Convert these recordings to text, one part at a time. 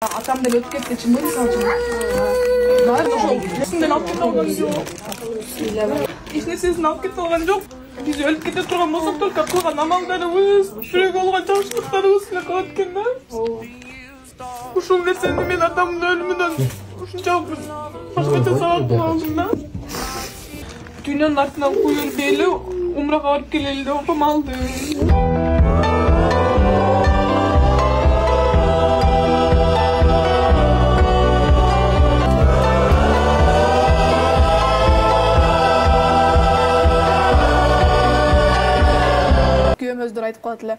Атам деле өтүп кетти, чынбы мисалы үчүн. Баары ошол нерсени алып кете алган жок. Эч нерсесин алып кете алган жок. Биз өлүп кете турган болсок только кылган амалдарыбыз, жүрөгү болгон жакшылыктарыбыз эле калат экен да. Ушул нерсени мен атамдын өлүмүнөн ушунчалык башкача сабак кылып алдым да. Дүйнөнүн артынан куюлуп эле умрага барып келели деп апам алды. Күйөөмөздөр айтып калат эле.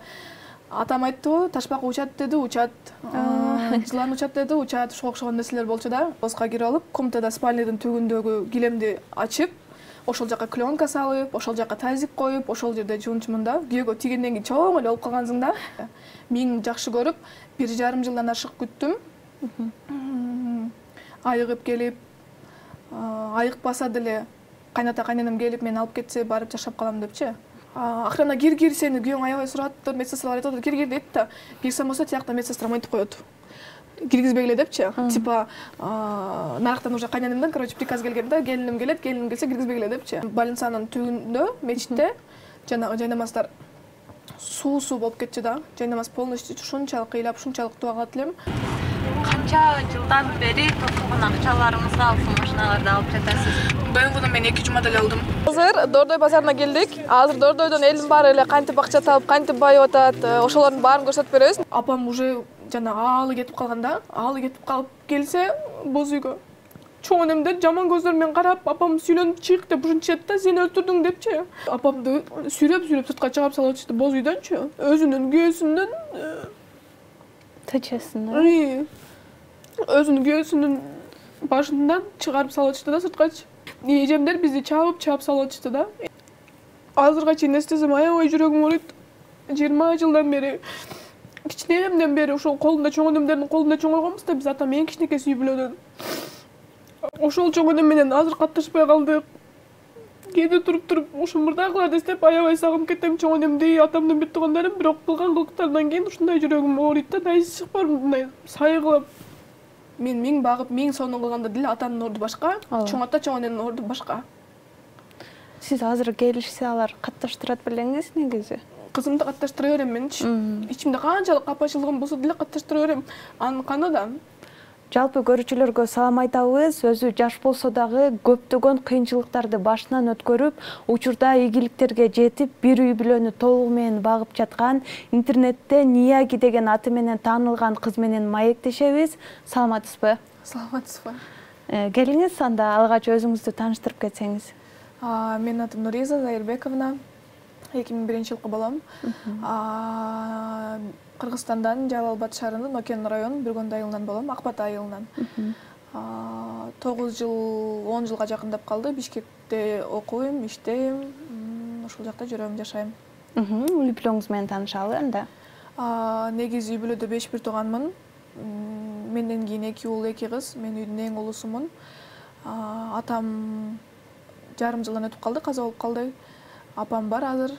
Атам айттыбы, ташбак учат деди, учат. Жылан учат деди, учат. Ошого окшогон нерселер болчу да. Оска кирип алып, комнатада спальныйдын түбүндөгү килемди ачып, ошол жака пленка салып, ошол жака тазик коюп, ошол жерде жуунчумун да. Күйөөгө тийгенден кийин чоң эле болуп калгансың да. Миң жакшы көрүп, 1,5 жылдан ашык күттүм. Айыгып келип, айыкпаса деле кайната кайненем келип мени алып кетсе барып жашап калам депчи. Охрана кир сени күйөөң аябай сураттыр, медсестралар айтып атат, кир деп да. Кирсем болсо тиякта медсестра мынтип коет. Киргизбегиле депчи. Типа нарыктан уже кайненемден, короче, приказ келген да, келиним келсе киргизбегиле депчи. Больницанын түбүндө, мечитте жанагы жайнамаздар суу болуп кетчү да. Жайнамаз полностью ушунчалык кыйлап, ушунчалык туа калат элем. Канча жылдан бери токтогон акчаларыңызды алып машиналарды алып жатасыз? БМВдон мен 2 жумада эле алдым. Азыр Дордой базарына келдик. Азыр Дордойдон элдин баары эле кантип акча таап, кантип байып атат, ошолордун баарын көрсөтүп беребиз. Апам уже жанагы аалы кетип калган да. Аалы кетип калып келсе боз үйгө. Чоң энемдер жаман көздөр менен карап, апам сүйлөнүп чык деп ушинтишет да, сени өлтүрдүң депчи. Апамды сүйрөп сыртка чыгарып салып атышты боз үйдөнчү. Өзүнүн күйөөсүнүн тачасынан. Өзүнүн күйөөсүнүн башынан чыгарып салып атышты да сырткачы. Эжемдер бизди чаап салып атышты да. Азырга чейин эстесем аябай жүрөгүм ооруйт. 20 жылдан бери, кичинемден бери ошол колунда чоң энемдердин колунда чоңойгонбуз да, биз атам эң кичинекей үй бүлөдөн. Ошол чоң энем менен азыр катташпай калдык. Кээде туруп ушул мурдагыларды эстеп аябай сагынып кетем чоң энемди, атамдын бүт туугандарын, бирок кылган кылыктарынан кийин ушундай жүрөгүм ооруйт да, дайысы чыкпар мындай сайгылап. Мен 1000 багып 1000 сонун кылганда деле атамдын орду башка, чоң ата чоң эненин орду башка. Сиз азыр келишсе алар катташтырат белеңиз негизи? Кызымды катташтыра берем менчи. Ичимде канчалык капачылыгым болсо деле катташтыра берем. Анын каны да. Жалпы көрүүчүлөргө салам айтабыз. Өзү жаш болсо дагы көптөгөн кыйынчылыктарды башынан өткөрүп, учурда ийгиликтерге жетип, бир үй бүлөнү толугу менен багып жаткан, интернетте Нияги деген аты менен таанылган кыз менен маектешебиз. Саламатсызбы? Саламатсызбы. Келиңиз, анда алгач өзүңүздү тааныштырып кетсеңиз. Менин атым Нуриза Зайырбековна. 2001-жылкы балам. Кыргызстандан Жалал-Абад шаарынын Окен районунун Бүргөндү айылынан болом, Акбат айылынан. 9 жыл, 10 жылга жакындап калды. Бишкекте окуйм, иштейм, ошол жакта жүрөм, жашайм. Үй бүлөңүз менен таанышалы анда. Негизи үй бүлөдө 5 бир тууганмын. Менден кийин 2 уул, 2 кыз. Мен үйдүн эң улусумун. Атам жарым жылдан өтүп калды, каза болуп калды. Апам бар азыр.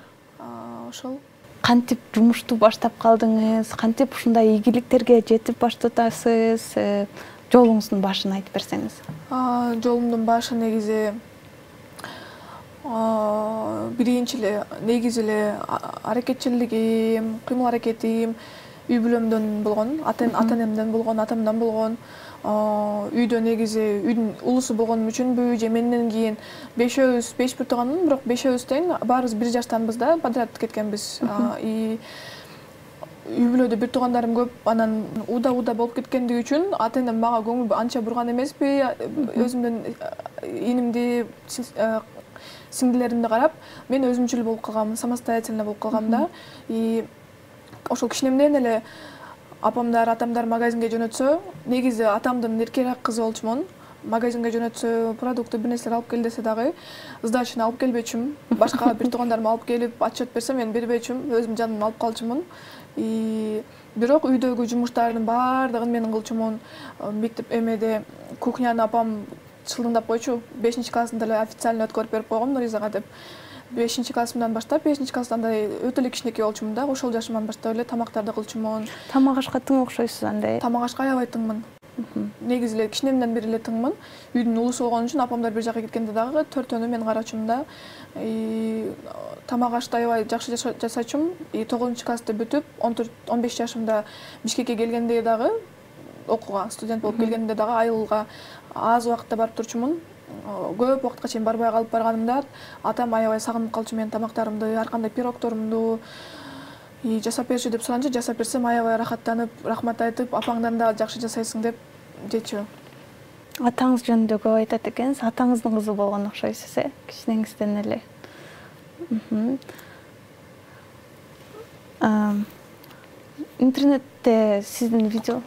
Ошол. Кантип жумушту баштап калдыңыз? Кантип ушундай ийгиликтерге жетип баштатасыз? Жолуңуздун башын айтып берсеңиз. Жолумдун башы негизи биринчи эле негизи эле аракетчилигим, кыймыл аракетим үй бүлөмдөн болгон, ата-энемден болгон, атамдан болгон. Үйдө негизи үйдүн улусу болгонум үчүнбү, же менден кийин 5 бир тууганмын, бирок 5 тең баарыбыз 1 жаштанбыз да, подряд кеткенбиз. Үй бүлөдө бир туугандарым көп, анан уда болуп кеткендиги үчүн ата-энем мага көңүл анча бурган эмеспи. Өзүмдөн инимди, сиңдилеримди карап, мен өзүмчүл болуп калгам, самостоятельно болуп калгам да. Ошол кичинемден эле апамдар, атамдар магазинге жөнөтсө, негизи атамдын эркерээк кызы болчумун. Магазинге жөнөтсө, продукты бир нерселер алып кел десе дагы, сдачаны алып келбечүмүн. Башка бир туугандарым алып келип, отчет берсе мен бербечүмүн, өзүм жаным алып калчумун. Бирок үйдөгү жумуштардын баардыгын мен кылчумун. Мектеп эмеде кухняны апам чылдыңдап койчу. 5 классында эле официально өткөрүп берип койгом Нуризага деп. 5-классымдан баштап, 5-класста андай өтө эле кичинекей болчумун да, ошол жашымдан баштап эле тамактарды кылчумун. Тамак ашка тың окшойсуз андай. Тамак ашка аябай тыңмын. Негизи эле кичинемден бери эле тыңмын. Үйдүн улусу болгон үчүн апамдар бир жака кеткенде дагы 4-төнү мен карачумун да. Тамак ашты аябай жакшы жасачумун. 9-классты бүтүп, 14-15 жашымда Бишкекке келгенде дагы окууга, студент болуп келгенде дагы айылга аз убакытта барып турчумун. Көп убакытка чейин барбай калып барганымда атам аябай сагынып калчу менин тамактарымды, ар кандай пирогторумду жасап берчү деп суранчу, жасап берсем аябай рахаттанып, рахмат айтып, апаңдан да жакшы жасайсың деп жечү. Атаңыз жөнүндө көп айтат экенсиз. Атаңыздын кызы болгон окшойсуз, кичинеңизден эле. Интернетте сиздин видео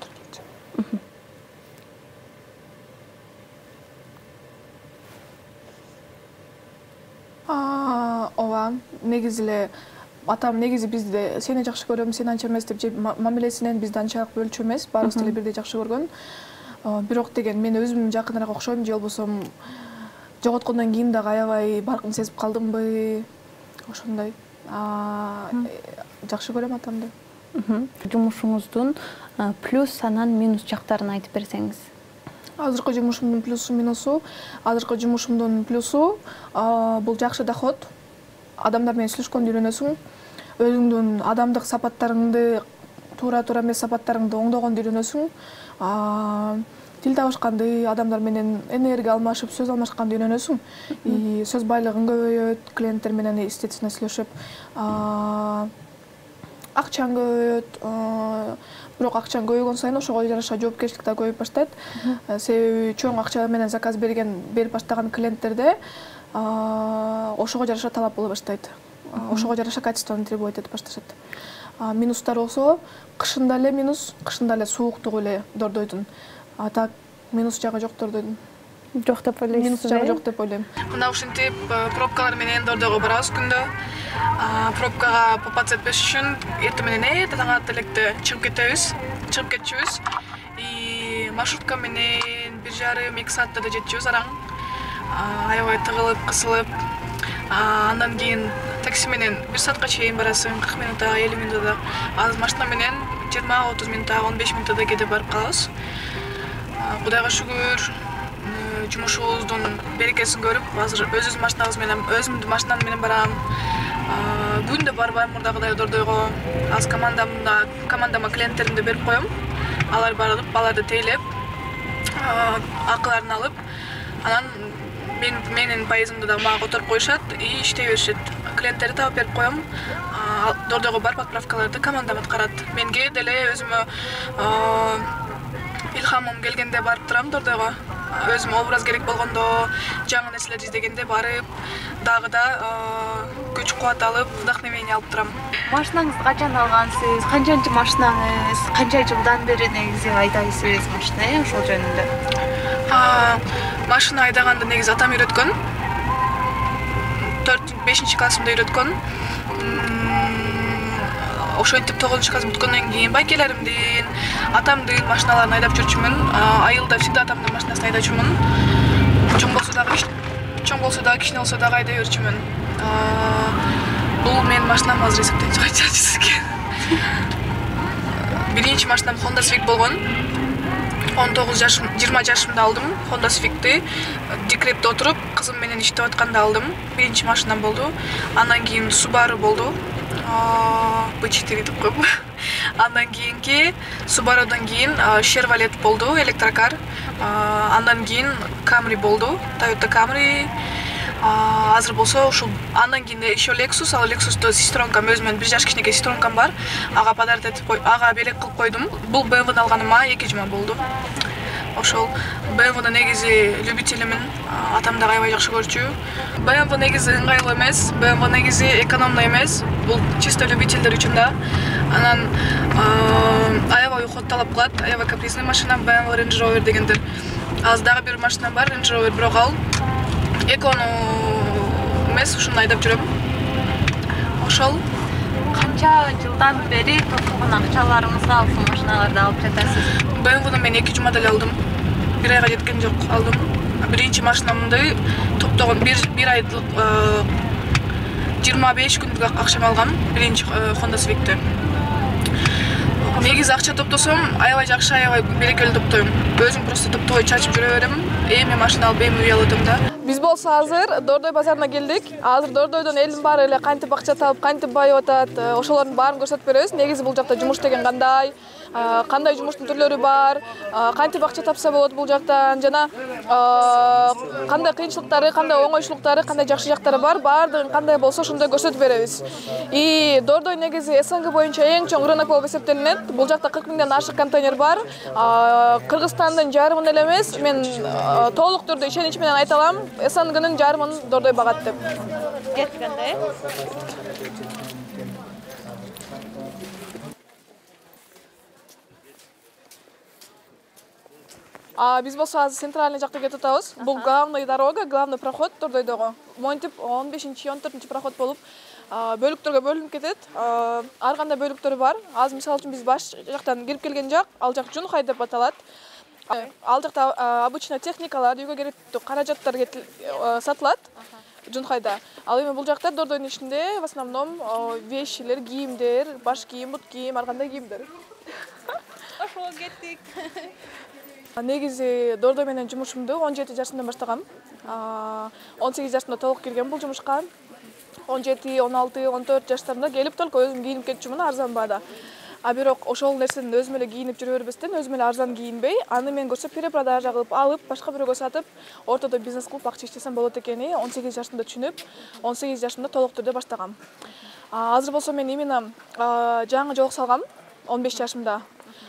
ооба, негизи эле атам негизи бизди сени жакшы көрөм, сени анча эмес деп мамилесинен бизди анчалык бөлчү эмес, баарыбызды эле бирдей жакшы көргөн. Бирок деген мен өзүм жакыныраак окшойм же болбосо жоготкондон кийин дагы аябай баркын сезип калдымбы, ошондой. Жакшы көрөм атамды. Жумушуңуздун плюс анан минус жактарын айтып берсеңиз. Азыркы жумушумдун плюсу, минусу. Азыркы жумушумдун плюсу бул жакшы доход. Адамдар менен сүйлөшкөндү үйрөнөсүң. Өзүңдүн адамдык сапаттарыңды, туура эмес сапаттарыңды оңдогонду үйрөнөсүң. Тил табышканды, адамдар менен энергия алмашып, сөз алмашканды үйрөнөсүң. Сөз байлыгың көбөйөт, клиенттер менен естественно сүйлөшүп. Акчаң көбөйөт. Бирок акчаң көбөйгөн сайын ошого жараша жоопкерчилик да көбөйүп баштайт. Себеби чоң акча менен заказ берип баштаган клиенттерде ошого жараша талап боло баштайт. Ошого жараша качествону требовать этип башташат. Минустар болсо, кышында эле минус, кышында эле сууктугу эле дордойдун. А так минус жагы жок дордойдун. Жок деп ойлойсуз? Минус жагы жок деп ойлойм. Мына ушинтип пробкалар менен дордойго барабыз күндө. Пробкага попасть этпеш үчүн эртең менен таң ата электе чыгып кетчүбүз. Маршрутка менен 1,5-2 саатта да жетчүбүз араң. Аябай тыгылып, кысылып. Андан кийин такси менен 1 саатка чейин барасың, 40 минутта, 50 минутта. Азыр машина менен 20-30 минутта, 15 минутта кете барып калабыз. Кудайга шүгүр, жумушубуздун берекесин көрүп, азыр өзүбүздүн машинам менен барам. Күндө барбайм мурдагыдай дордойго. Аз командама клиенттеримди берип коем. Алар барып, аларды тейлеп, акыларын алып, анан менин пайызымды да мага которуп коюшат и иштей беришет. Клиенттерди таап берип коем. Дордойго барып отправкаларды командам аткарат. Менге деле өзүмө илхамым келгенде барып турам дордойго. Өзүмө образ керек болгондо, жаңы нерселерди издегенде барып, дагы да күч кубат алып, вдохновение алып турам. Машинаңызды качан алгансыз? Канчанчы машинаңыз? Канча жылдан бери негизи айдайсыз машина, ошол жөнүндө? Машина айдаганды негизи атам үйрөткөн. 4-5-классымда үйрөткөн. Ошентип 9-класс бүткөндөн кийин байкелеримдин, атамдын машиналарын айдап жүрчүмүн. Айылда всегда атамдын машинасын айдачумун. Чоң болсо дагы, кичине болсо дагы айдай берчүмүн. Бул менин машинам азыр эсептен чыгат сизге. Биринчи машинам Honda Civic болгон. 20 жашымда алдым Honda Civic'ти. Декретте отуруп, кызым менен иштеп атканда алдым. Биринчи машинам болду. Андан кийин Subaru болду. B4 деп коем. Андан кийинки Subaru'дан кийин Chevrolet болду, электрокар. Андан кийин Camry болду, Toyota Camry. Азыр болсо ушул андан кийин еще Lexus, ал Lexus'то сестронкам өзүмөн 1 жаш кичинекей сестронкам бар. Ага подарок этип ага белек кылып койдум. Бул BMW-ны алганыма 2 жума болду. Ошол BMW-ны негизи любителимин, атам да аябай жакшы көрчү. BMW негизи ыңгайлуу эмес, BMW негизи экономдуу эмес. Бул чисто любительдер үчүн да. Анан аябай уход талап кылат, аябай капризный машина BMW Range Rover дегендер. Азыр дагы бир машина бар, Range Rover, бирок ал экону эмес, ушуну айдап жүрөм. Ошол Канча жылдан бери топтогон акчаларыңызга ушул машиналарды алып жатасыз? BMW-ны мен 2 жумада эле алдым. 1 айга жеткен жок, алдым. Биринчи машинамды топтогон 1 айдык 25 күндүк акчам алгам биринчи Honda Civic'ти. Негизи акча топтосом, аябай жакшы, аябай берекелүү топтойм. Өзүм просто топтой чачып жүрө берем. Эми машина алып, эми үй алып атам да. Биз болсо азыр Дордой базарына келдик. Азыр Дордойдон элдин баары эле кантип акча таап, кантип байып атат, ошолордун баарын көрсөтүп беребиз. Негизи бул жакта жумуш деген кандай жумуштун түрлөрү бар, кантип акча тапса болот бул жактан, жана кандай кыйынчылыктары, кандай оңойчулуктары, кандай жакшы жактары бар, баардыгын кандай болсо ошондой көрсөтүп беребиз. И Дордой негизи СНГ боюнча эң чоң рынок болуп эсептелинет. Бул жакта 40 миңден ашык контейнер бар. Кыргызстандын жарымын эле эмес, мен толук түрдө ишенич менен айта алам, СНГнын жарымын Дордой багат деп. Кеткенде. Биз болсо азыр центральный жакка кетип атабыз. Бул главный дорога, главный проход Дордойдогу. Монтип 15-14 проход болуп бөлүктөргө бөлүнүп кетет. Ар кандай бөлүктөрү бар. Азыр мисалы үчүн биз баш жактан кирип келген жак, ал жак Жунхай деп аталат. Ал жакта обычно техникалар, үйгө керектүү каражаттар сатылат Жунхайда. Ал эми бул жакта Дордойдун ичинде в основном вещилер, кийимдер, баш кийим, бут кийим, ар кандай кийимдер. Ошого кеттик. Негизи Дордой менен жумушумду 17 жашымдан баштагам. 18 жашымда толук киргем бул жумушка. 17, 16, 14 жаштарымда келип только өзүм кийинип кетчүмүн арзан баада. Бирок ошол нерсени өзүм эле кийинип жүрө бербестен, өзүм эле арзан кийинбей, аны мен көрсө перепродажа кылып алып, башка бирөөгө сатып, ортодо бизнес кылып акча иштесем болот экени 18 жашымда түшүнүп, 18 жашымда толук түрдө баштагам. Азыр болсо мен именно жаңы жолук салгам 15 жашымда.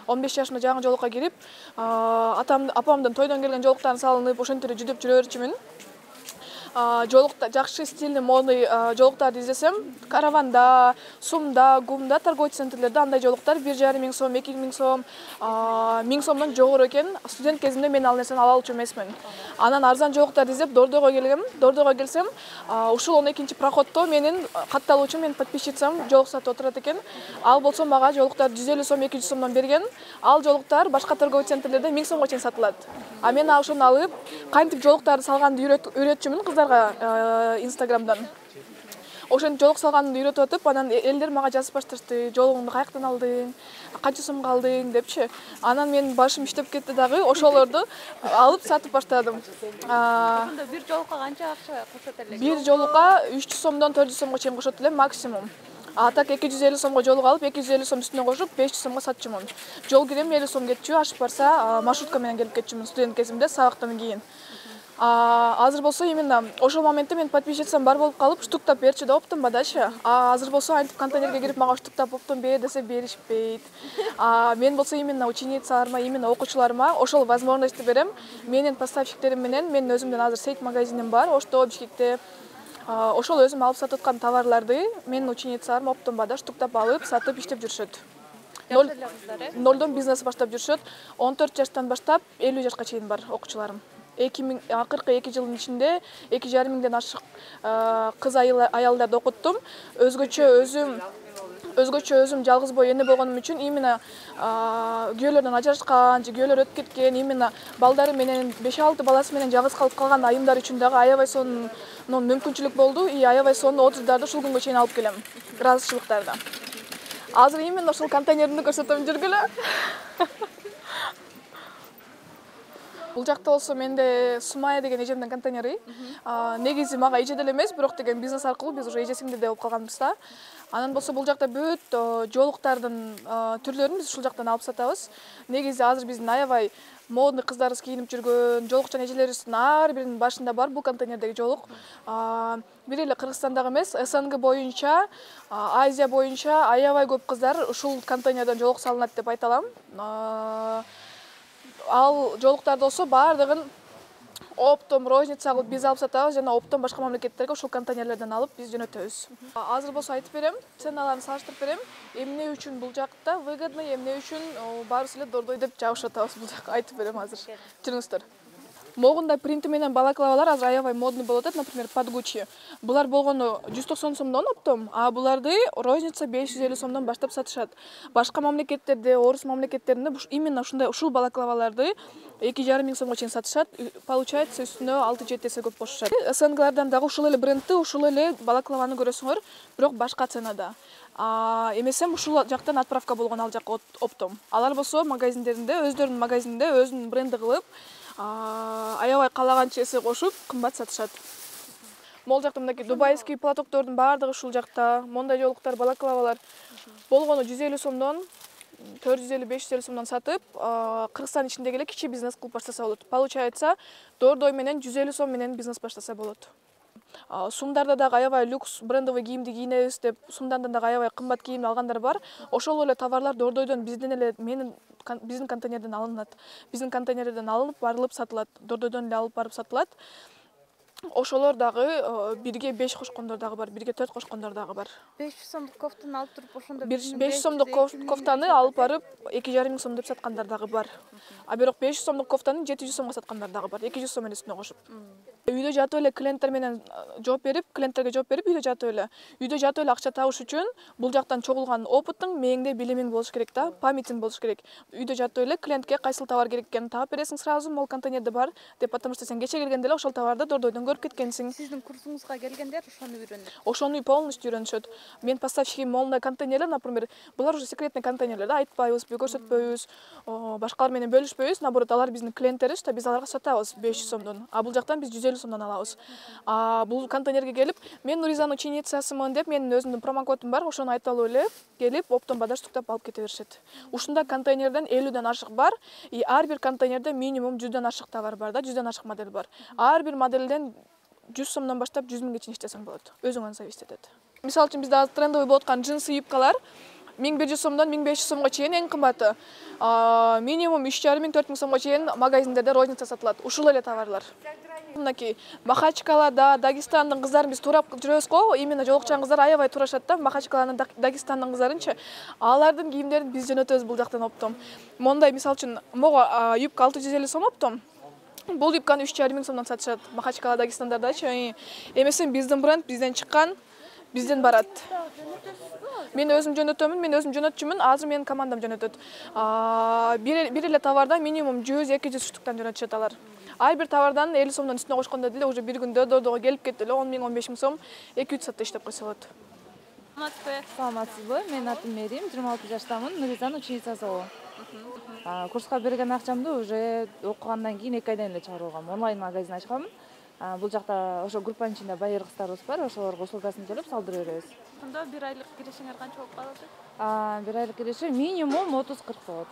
15 жашымда жаңы жолукка кирип, апамдын тойдон келген жолуктарын салынып, ошентип жүдөп жүрө берчүмүн. Жолукта жакшы стильный модный жолуктарды издесем, Караванда, Сумда, Гумда, торговый центрлерде андай жолуктар 1,5 миң сом, 2 миң сом, 1000 сомдон жогору экен. Студент кезимде мен ал нерсени ала алчу эмесмин. Анан арзан жолуктарды издеп Дордойго келгем. Дордойго келсем, ушул 12-чи проходдо менин катталуучум, менин подписчицам жолук сатып отурат экен. Ал болсо мага жолуктар 150 сом, 200 сомдон берген. Ал жолуктар башка торговый центрлерде 1000 сомго чейин сатылат. Мен ошону алып, кантип жолуктарды салганды үйрөтчүмүн кыздарга Инстаграмдан. Ошентип жолук салганды үйрөтүп атып, анан элдер мага жазып башташты. Жолугуңду каяктан алдың, канча сомго алдың депчи. Анан менин башым иштеп кетти дагы, ошолорду алып сатып баштадым. Ошондо бир жолукка канча акча кошот элек? Бир жолукка 300 сомдон 400 сомго чейин кошот элем максимум. Так 250 сомго жолук алып, 250 сом үстүнө кошуп, 500 сомго сатчумун. Жол кирем 50 сом кетчү, ашып барса маршрутка менен келип кетчүмүн студент кезимде, сабактан кийин. Азыр болсо именно ошол моментте мен подписчицам бар болуп калып, штуктап берчи деп оптум бадачы. Азыр болсо антип контейнерге кирип мага штуктап оптум бер десе беришпейт. Мен болсо именно ученицаларыма, именно окуучуларыма ошол возможностьту берем. Менин поставщиктерим менен, менин өзүмдүн азыр сейт магазиним бар, Ошто, Бишкекте. Ошол өзүм алып сатып аткан товарларды менин ученицаларым оптомбада штуктап алып, сатып иштеп жүрүшөт. Нолдон бизнес баштап жүрүшөт. 14 жаштан баштап 50 жашка чейин бар окуучуларым. 42 жылдын ичинде 2,5 миңден ашык кыз аялдарды окуттум. Өзгөчө өзүм жалгыз бой эне болгонум үчүн именно күйөөлөрдөн ажырашкан, же күйөөлөр өтүп кеткен, именно балдары менен 5-6 баласы менен жалгыз калып калган айымдар үчүн дагы аябай сонун мүмкүнчүлүк болду. Аябай сонун отзывдарды ушул күнгө чейин алып келем. Ыраазычылыктарды. Азыр именно ушул контейнерди көрсөтөм, жүргүлө. Бул жакта болсо менде Сумая деген эжемдин контейнери. Негизи мага эже деле эмес, бирок деген бизнес аркылуу биз уже эже сиңдиде болуп калганбыз да. Анан болсо бул жакта бүт жолуктардын түрлөрүн биз ушул жактан алып сатабыз. Негизи азыр биздин аябай модный кыздарыбыз кийинип жүргөн жолукчан эжелерибиздин ар биринин башында бар бул контейнердеги жолук. Бир эле Кыргызстандагы эмес, СНГ боюнча, Азия боюнча аябай көп кыздар ушул контейнерден жолук салынат деп айта алам. Ал жолуктарды болсо баардыгын оптом, розница кылып биз алып сатабыз жана оптом башка мамлекеттерге ушул контейнерлерден алып биз жөнөтөбүз. Азыр болсо айтып берем, ценаларын салыштырып берем. Эмне үчүн бул жакта выгодный, эмне үчүн баарыбыз эле Дордой деп жабышып атабыз бул жакка айтып берем азыр. Жүрүңүздөр. Могундай принти менен балаклавалар азыр аябай модный болуп атат, например, под Gucci. Булар болгону 190 сомдон оптом, а буларды розница 550 сомдон баштап сатышат. Башка мамлекеттерде, орус мамлекеттеринде именно ушул балаклаваларды 2,5 миң сомго чейин сатышат. Получается, үстүнө 6-7 эсе көп кошушат. СНГлардан дагы ушул эле брендти, ушул эле балаклаваны көрөсүңөр, бирок башка ценада. Эмесем ушул жактан отправка болгон ал жакка оптом. Алар болсо магазиндеринде, өздөрүнүн магазининде өзүнүн бренди кылып, аябай калаганча эсе кошуп, кымбат сатышат. Могул жакта мындай дубайский платоктордун баардыгы ушул жакта. Мондай жолуктар, балаклавалар болгону 150 сомдон 450-550 сомдон сатып, Кыргызстан ичиндеги эле кичи бизнес кылып баштаса болот. Получается, дордой менен 150 сом менен бизнес баштаса болот. Сумдарда дагы аябай люкс брендовый кийимди кийинебиз деп, сумдан дагы аябай кымбат кийим алгандар бар. Ошол эле товарлар дордойдон биздин контейнерден алынат. Биздин контейнерден алынып, барылып сатылат. Дордойдон эле алып барып сатылат. Ошолор дагы бирге 5 кошкондор дагы бар, бирге 4 кошкондор дагы бар. 500 сомдук кофтаны алып туруп ошондо 500 сомдук кофтаны алып барып 2,5 миң сом деп саткандар дагы бар. А бирок 500 сомдук кофтаны 700 сомго саткандар дагы бар, 200 сом менен үстүнө кошуп. Үйдө жатып эле клиенттер менен клиенттерге жооп берип, үйдө жатып эле акча табыш үчүн бул жактан чогулган опытың, мээңде билимиң болуш керек да, памятиң болуш керек. Үйдө жатып эле клиентке кайсыл товар керек экенин таап бересиң сразу, могул контейнерде бар деп, потому что сен кече келгенде эле ошол товарды дордойдон көрүп кеткенсиң. Сиздин курсуңузга келгендер ошону үйрөнөт. Ошону полностью үйрөнүшөт. Мен поставщигим моундай контейнерлер, например, булар уже секретный контейнерлер да, айтпайбыз, көрсөтпөйбүз, башкалар менен бөлүшпөйбүз, наоборот, алар биздин клиенттерибиз да, биз аларга сатабыз 500 сомдон. А бул жактан биз 150 сомдон алабыз. Бул контейнерге келип, мен Нуризанын ученицасымын деп, менин өзүмдүн промокодум бар, ошону айтып алып эле келип, оптом бадаштыктап алып кете беришет. Ушундай контейнерден 50ден ашык бар, и ар бир контейнерде минимум 100дөн ашык товар бар да, 100дөн ашык модель бар. Ар бир моделден 100 сомдон баштап 100 миңге чейин иштесең болот. Өзүңөн зависит этет. Мисалы үчүн бизде азыр трендовый болуп аткан джинсы юбкалар 1100 сомдон 1500 сомго чейин эң кымбаты. Минимум 3,5 миң 4 миң сомго чейин магазиндерде розница сатылат. Ушул эле товарлар. Мынакей Махачкалада, Дагестандын кыздарын биз турап жүрөбүз го, именно жолукчан кыздар аябай турашат да, Махачкаланын, Дагестандын кыздарынчы. Алардын кийимдерин биз жөнөтөбүз бул жактан оптом. Мондай мисалы үчүн мого юбка 650 сом оптом. Бул юбканы 3,5 миң сомдон сатышат Махачкала, Дагестандардачы. Эмесин биздин бренд, бизден чыккан, бизден барат. Мен өзүм жөнөтөмүн, мен өзүм жөнөтчүмүн, азыр менин командам жөнөтөт. Бир эле товардан минимум 100-200 штуктан жөнөтүшөт алар. Ар бир товардан 50 сомдон үстүнө кошкондо деле уже бир күндө дордого келип кетти эле 10 миң 15 миң сом 2-3 саатта иштеп койсо болот. Саламатсызбы? Менин атым Мерим, 26 жаштамын, Нуризанын ученицасы болом. Курска берген акчамды уже окугандан кийин 2 айдан эле чыгарып алгам. Онлайн магазин ачкам. Бул жакта ошо группанын ичинде байыр кыздарыбыз бар, ошолорго услугасын төлөп салдырып беребиз. Ошондо 1 айлык киришиңер канча болуп калат? 1 айлык кириши минимум 30-40 болот.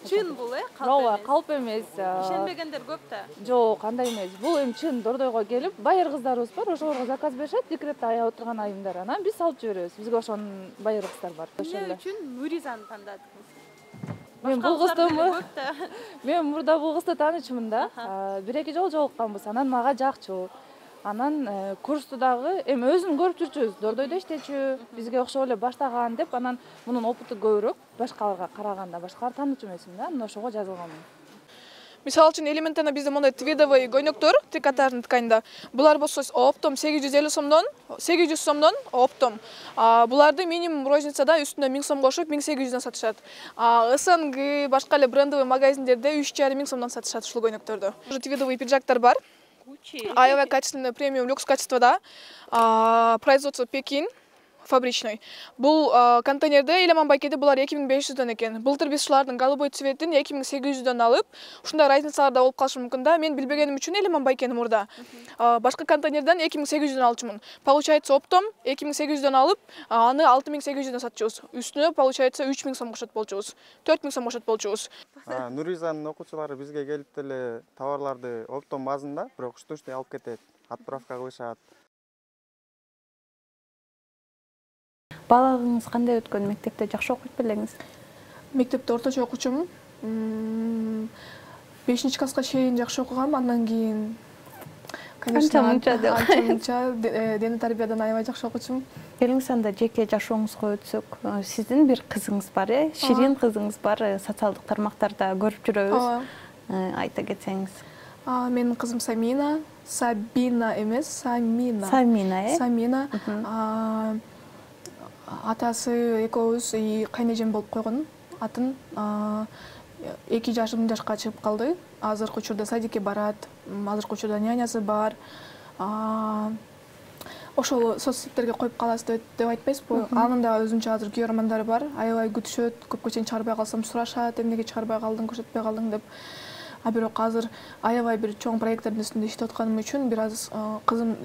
Чын бул, калп эмес. Ишенбегендер көп да. Жок, андай эмес. Бул эми чын дордойго келип, байыр кыздарыбыз бар, ошолорго заказ беришет, декретте аяп отурган айымдар. Анан биз салып жиберебиз. Бизге ошонун байыр кыздар бар. Эмне үчүн Нуризаны тандадыңыз? Мен бул кызды Мен мурда бул кызды таанычмын да. 1-2 жолу жолукканбыз. Анан мага жакчу. Анан курсту дагы эми өзүн көрүп жүрчүбүз. Дордойдо иштечү, бизге окшоп эле баштаган деп, анан мунун опыту көбүрөөк башкаларга караганда. Башкалар таанычу эмесмин да, анан ошого жазылганмын. Мисалы үчүн элементарно бизде мондай твидовый гойноктор, трикотажный тканьда. Булар болсо оптом 850 сомдон, 800 сомдон оптом. Буларды минимум розницада үстүнө 1000 сом кошуп 1800дөн сатышат. СНГ, башка эле брендовый магазиндерде 3,5 миң сомдон сатышат ушул гойнокторду. Уже твидовый пиджактар бар. Аябай качественный, премиум, люкс качествода. Производство Пекин. Фабричный. Бул контейнерде Элеман-Байкеде булар 2500дөн экен. Былтыр биз ушулардын голубой цветин 2800дөн алып, ушундай разницалар да болуп калышы мүмкүн да. Мен билбегеним үчүн Элеман-Байкени мурда башка контейнерден 2800дөн алчумун. Получается оптом 2800дөн алып, аны 6800дөн сатчубуз. Үстүнө получается 3000 сом кошот болчубуз. 4000 сом кошот болчубуз. Нуризанын окуучулары бизге келип деле товарларды оптом базында, бирок ушту-ушту алып кетет. Отправка кылышат. Балагыңыз кандай өткөн? Мектепте жакшы окуйт белеңиз? Мектепте орточо окуучумун. 5-класска чейин жакшы окугам, андан кийин Анча-мунча дене тарбиядан аябай жакшы окуучумун. Келиңиз анда жеке жашооңузга өтсөк, сиздин бир кызыңыз бар, Ширин кызыңыз бар, социалдык тармактарда көрүп жүрөбүз. Айта кетсеңиз. Менин кызым Самина. Сабина эмес, Самина. Самина. Атасы экөөбүз кайнэжем болуп койгон. Атын 2 жашка чыгып калды. Азыркы учурда садикке барат. Азыркы учурда нянясы бар. Ошол соц сеттерге коюп каласыз деп айтпайсызбы? Анын да өзүнчө азыр күйөө романдары бар. Аябай күтүшөт, көпкө чейин чыгарбай калсам сурашат, эмнеге чыгарбай калдың, көрсөтпөй калдың деп. Бирок азыр аябай бир чоң проекттердин үстүндө иштеп атканым үчүн, бир аз кызым